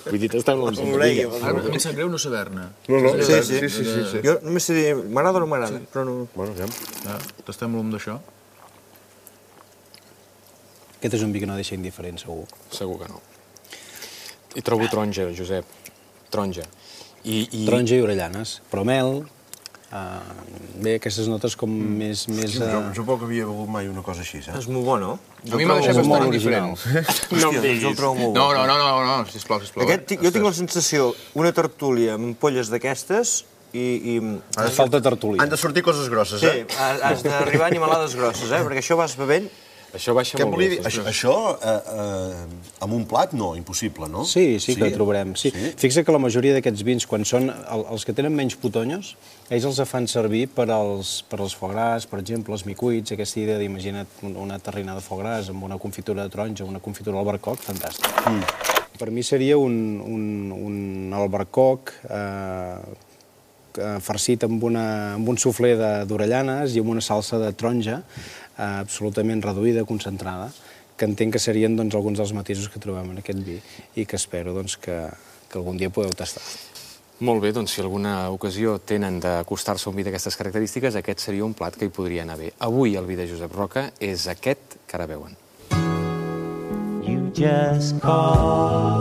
Vull dir, tastem la Ara, a mi em sap greu no saber-ne. No, no, Sí, sí, sí, sí, sí, sí. Jo només sé dir, m'agrada o no m'agrada, però no... Bueno, ja. Ah, tastem l'um d'això. Aquest és un vi que no deixa indiferent, segur. Segur que no. I trobo taronja, Josep. Taronja. I, i... Taronja i orellanes, però mel... Uh, bé, aquestes notes com mm. més... més Jo, uh... jo poc havia begut mai una cosa així, saps? És molt bo, no? A mi m'ha deixat molt bastant original. indiferent. No em Hòstia, diguis. jo el trobo molt bo. No, no, no, no, no, sisplau, sisplau. Aquest, ti- jo tinc la sensació, una tertúlia amb ampolles d'aquestes i... i... Falta tertúlia. Han de sortir coses grosses, Sí, eh? has has d'arribar a animalades grosses, eh? Perquè això vas bevent... Això baixa Què molt volia bé. dir? Això, això eh, eh, amb un plat, no, impossible, no? Sí, sí que ho trobarem. Sí. Sí? Fixa que la majoria d'aquests vins, quan són el, els que tenen menys putonyos, ells els fan servir per als, per als foie gras, per exemple, els micuits, aquesta idea d'imagina't una terrina de foie gras amb una confitura de taronja, una confitura d'albercoc, fantàstic. Mm. Per mi seria un, un, un albercoc eh, farcit amb, una, amb un suflé d'orellanes i amb una salsa de taronja eh, absolutament reduïda, concentrada, que entenc que serien doncs, alguns dels matisos que trobem en aquest vi i que espero doncs, que, que algun dia podeu tastar. Molt bé, doncs si alguna ocasió tenen d'acostar-se a un vi d'aquestes característiques, aquest seria un plat que hi podria anar bé. Avui el vi de Josep Roca és aquest que ara veuen. You just call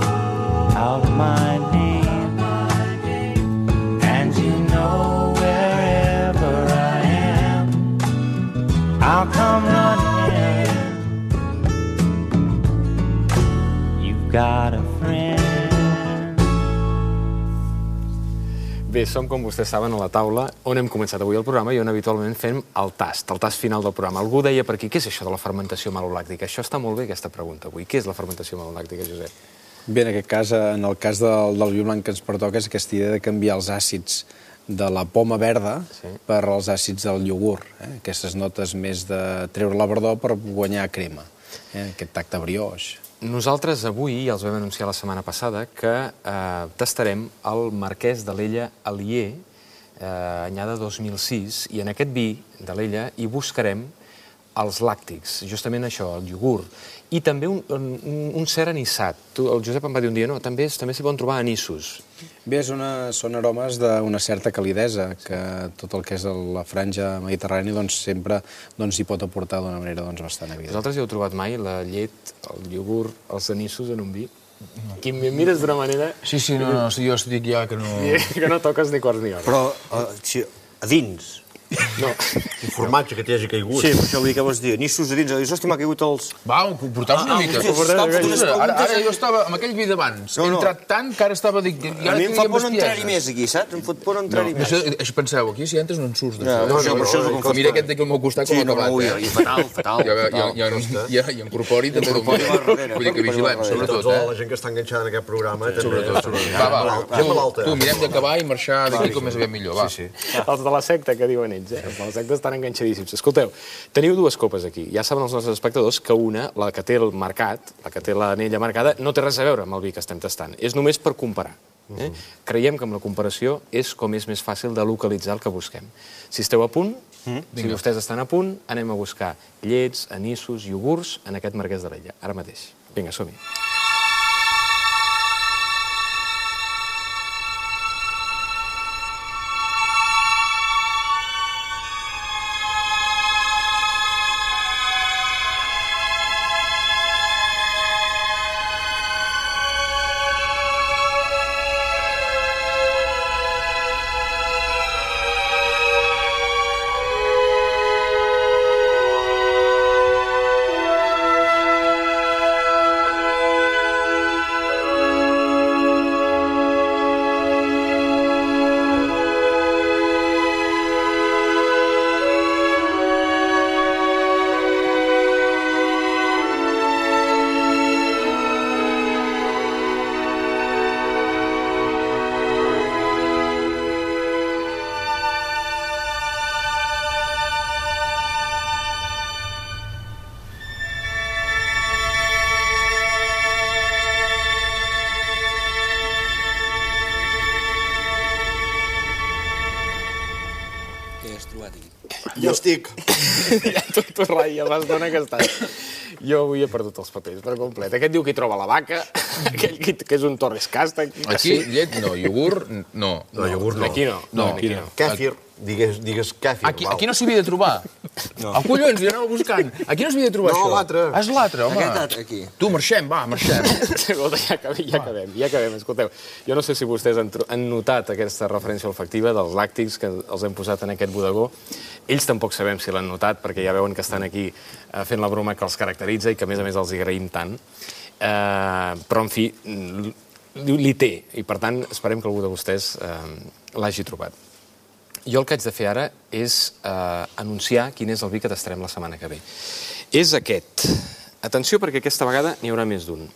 out my name, and you know wherever I am, I'll come running. You've got a friend. Bé, som, com vostès saben, a la taula on hem començat avui el programa i on habitualment fem el tast, el tast final del programa. Algú deia per aquí, què és això de la fermentació malolàctica? Això està molt bé, aquesta pregunta avui. Què és la fermentació malolàctica, Josep? Bé, en aquest cas, en el cas del, del vi blanc que ens pertoca, és aquesta idea de canviar els àcids de la poma verda Sí. per als àcids del iogurt. Eh? Aquestes notes més de treure la verdor per guanyar crema. Eh? Aquest tacte brioix. Nosaltres avui, ja els vam anunciar la setmana passada, que eh, tastarem el Marquès de l'Ella Alier, eh, anyada dos mil sis, i en aquest vi de l'Ella hi buscarem els làctics, justament això, el iogurt, i també un, un, un cert anissat. Tu, el Josep em va dir un dia, no, també, també s'hi poden trobar anissos. Bé, és una, són aromes d'una certa calidesa, que tot el que és la franja mediterrània doncs, sempre doncs, hi pot aportar d'una manera doncs, bastant evident. Vosaltres hi heu trobat mai la llet, el iogurt, els anissos en un vi? Quim, em mires d'una manera... Sí, sí, no, no, jo estic ja que no... Que no toques ni quarts ni hores. Però, uh, a dins... No. Un formatge que t'hi hagi caigut. Sí, per això vull dir que vols dir. Nissos a dins, dius, hòstia, m'ha caigut els... Va, porta'ls una mica. Ara, ara jo estava amb aquell vi d'abans. He entrat tant que ara estava... A mi em fa por no entrar-hi més aquí, saps? Em fot por no entrar-hi més. Això penseu, aquí si entres no en surts. No, no, per això és el confort. Mira aquest d'aquí al meu costat com ha acabat. Sí, no, fatal, fatal. I incorpori també el meu. Vull dir que vigilem, sobretot. La gent que està enganxada en aquest programa... Sobretot. Va, va, tu, mirem d'acabar i marxar d'aquí com més aviat millor, va. Els de la secta, que diuen ells, eh? Els de la secta estan enganxadíssims. Escolteu, teniu dues copes aquí. Ja saben els nostres espectadors que una, la que té el marcat, la que té l'anella marcada, no té res a veure amb el vi que estem tastant. És només per comparar. Eh? Creiem que amb la comparació és com és més fàcil de localitzar el que busquem. Si esteu a punt, si vostès estan a punt, anem a buscar llets, anissos, iogurts en aquest Marquès d'Alella. Ara mateix. Vinga, som-hi. Jo estic. Ja tu, tu, Rai, ja l'estona que estàs. Jo avui he perdut els papers per complet. Aquest diu que hi troba la vaca, aquell que és un Torres Casta. Aquí, llet, no. Iogurt, no. No, iogurt no. Aquí no. No, aquí no. Kèfir, digues, digues kèfir. Aquí, aquí no s'havia de trobar. No. Ah, collons, jo anava buscant. Aquí no s'havia de trobar no, això. No, l'altre. És l'altre, home. Aquest aquí. Tu, marxem, va, marxem. Escolta, ja acabem, ja acabem, ja acabem. Escolteu, jo no sé si vostès han, han notat aquesta referència olfactiva dels làctics que els hem posat en aquest bodegó. Ells tampoc sabem si l'han notat, perquè ja veuen que estan aquí eh, fent la broma que els caracteritza i que, a més a més, els hi agraïm tant. Eh, però, en fi, li té, i per tant, esperem que algú de vostès eh, l'hagi trobat. Jo el que haig de fer ara és eh, anunciar quin és el vi que tastarem la setmana que ve. És aquest. Atenció, perquè aquesta vegada n'hi haurà més d'un.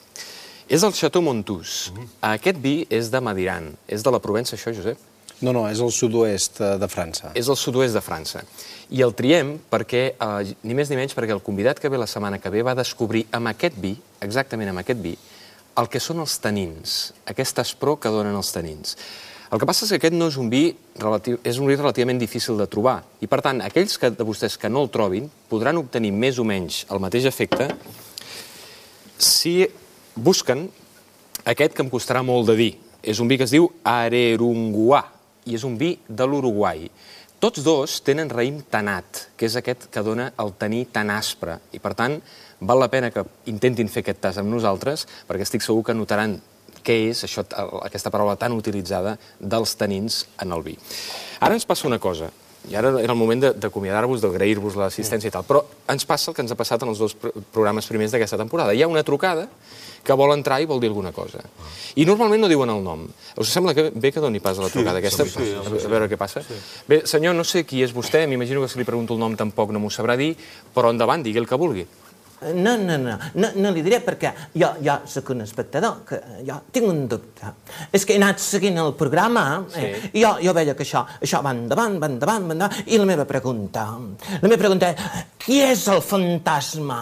És el Chateau Montous. Aquest vi és de Madiran. És de la Provença, això, Josep? No, no, és el sud-oest de França. És el sud-oest de França. I el triem perquè, eh, ni més ni menys, perquè el convidat que ve la setmana que ve va descobrir amb aquest vi, exactament amb aquest vi, el que són els tanins, aquesta aspror que donen els tanins. El que passa és que aquest no és un vi relatiu, és un vi relativament difícil de trobar. I, per tant, aquells que, de vostès que no el trobin podran obtenir més o menys el mateix efecte si busquen aquest que em costarà molt de dir. És un vi que es diu Arerunguá i és un vi de l'Uruguai. Tots dos tenen raïm tanat, que és aquest que dona el taní tan aspre. I, per tant, val la pena que intentin fer aquest tas amb nosaltres, perquè estic segur que notaran què és això, aquesta paraula tan utilitzada dels tanins en el vi. Ara ens passa una cosa, i ara era el moment d'acomiadar-vos, d'agrair-vos l'assistència i tal, però ens passa el que ens ha passat en els dos programes primers d'aquesta temporada. Hi ha una trucada que vol entrar i vol dir alguna cosa. I normalment no diuen el nom. Us sembla que bé que doni pas a la trucada aquesta? A veure què passa. Bé, senyor, no sé qui és vostè, m'imagino que si li pregunto el nom tampoc no m'ho sabrà dir, però endavant, digui el que vulgui. No, no, no, no, no li diré perquè jo, jo soc un espectador, que jo tinc un dubte. És que he anat seguint el programa eh, i jo, jo veia que això, això va endavant, va endavant, va endavant, i la meva pregunta, la meva pregunta és, qui és el fantasma?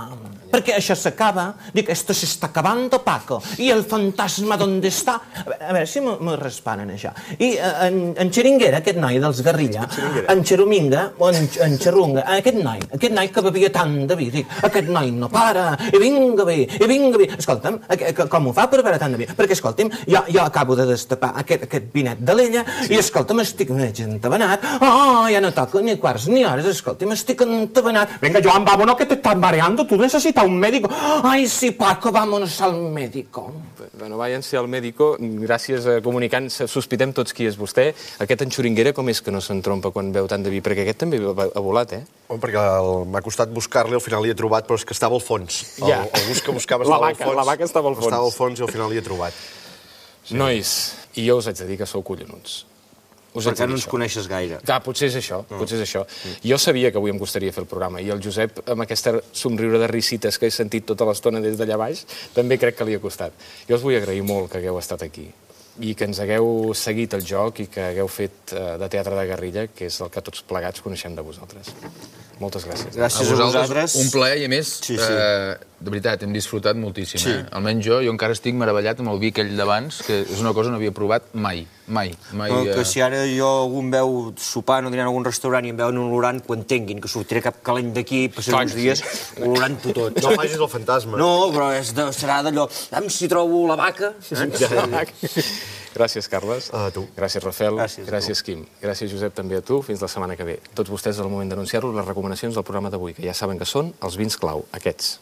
Perquè això s'acaba, dic, esto se está acabando, Paco, i el fantasma d'on està? A veure, a veure si me responen això. I en, en Xeringuera, aquest noi dels Guerrilla, en Xerominga, o en, en Xerrunga, aquest noi, aquest noi que bevia tant de vi, dic, aquest noi no para, i vinga bé, i vinga bé. Escolta'm, com ho fa per beure tant de vi? Perquè, escolta'm, jo, jo acabo de destapar aquest, aquest vinet de l'Ella, i, escolta'm, estic mig entabanat. Oh, ja no toco ni quarts ni hores, escolta'm, estic entabanat. Venga, Joan, vámonos, que te estás mareando, tu necesitas a un médico. Ay, sí, Paco, vámonos al médico. Bueno, váyanse al médico. Gràcies a Comunicant. Sospitem tots qui és vostè. Aquest enxuringuera com és que no s'entrompa quan veu tant de vi? Perquè aquest també ha volat, eh? Home, perquè m'ha costat buscar-li, al final l'hi he trobat, però és que estava al fons. Ja. El bus que buscava La estava al vaca, fons. la vaca estava al fons. Estava al fons i al final l'hi he trobat. Nois, i jo us haig de dir que sou collonuts. Us haig de Perquè no dir ens això. coneixes gaire. Clar, potser és això, potser és això. Jo sabia que avui em costaria fer el programa i el Josep, amb aquesta somriure de risites que he sentit tota l'estona des d'allà baix, també crec que li ha costat. Jo us vull agrair molt que hagueu estat aquí i que ens hagueu seguit el joc i que hagueu fet eh, de teatre de guerrilla, que és el que tots plegats coneixem de vosaltres. Moltes gràcies. Gràcies a vosaltres. Un plaer, i a més, Sí, sí. eh, de veritat, hem disfrutat moltíssim. Sí. Eh? Almenys jo, jo encara estic meravellat amb el vi aquell d'abans, que és una cosa que no havia provat mai, mai. mai No, eh... que si ara jo algú em veu sopar o dinant a algun restaurant i em veuen olorant, que ho entenguin, que sortiré cap calent d'aquí, passaré Clar uns que dies olorant-ho tot. No facis el fantasma. No, però és de, serà d'allò, am si trobo la vaca. Gràcies, Carles. A tu. Gràcies, Rafael. Gràcies a tu. Gràcies, Quim. Gràcies, Josep, també a tu. Fins la setmana que ve. Tots vostès, és el moment d'anunciar-vos les recomanacions del programa d'avui, que ja saben que són els vins clau, aquests.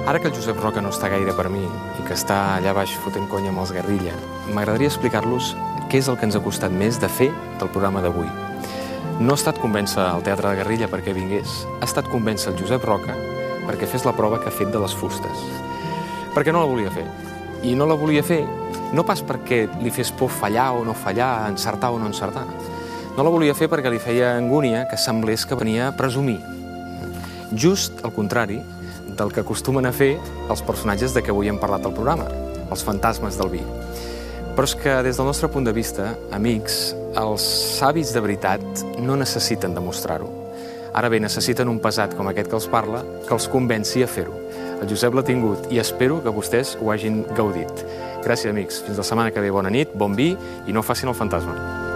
Ara que el Josep Roca no està gaire per mi i que està allà baix fotent conya amb els guerrilla, m'agradaria explicar-los què és el que ens ha costat més de fer del programa d'avui. No ha estat convèncer el Teatre de Guerrilla perquè vingués, ha estat convèncer el Josep Roca perquè fes la prova que ha fet de les fustes. Perquè no la volia fer. I no la volia fer no pas perquè li fes por fallar o no fallar, encertar o no encertar. No la volia fer perquè li feia angúnia que semblés que venia a presumir. Just al contrari del que acostumen a fer els personatges de què avui hem parlat al programa, els fantasmes del vi. Però és que, des del nostre punt de vista, amics, els savis de veritat no necessiten demostrar-ho. Ara bé, necessiten un pesat com aquest que els parla que els convenci a fer-ho. El Josep l'ha tingut i espero que vostès ho hagin gaudit. Gràcies, amics. Fins la setmana que ve. Bona nit, bon vi i no facin el fantasma.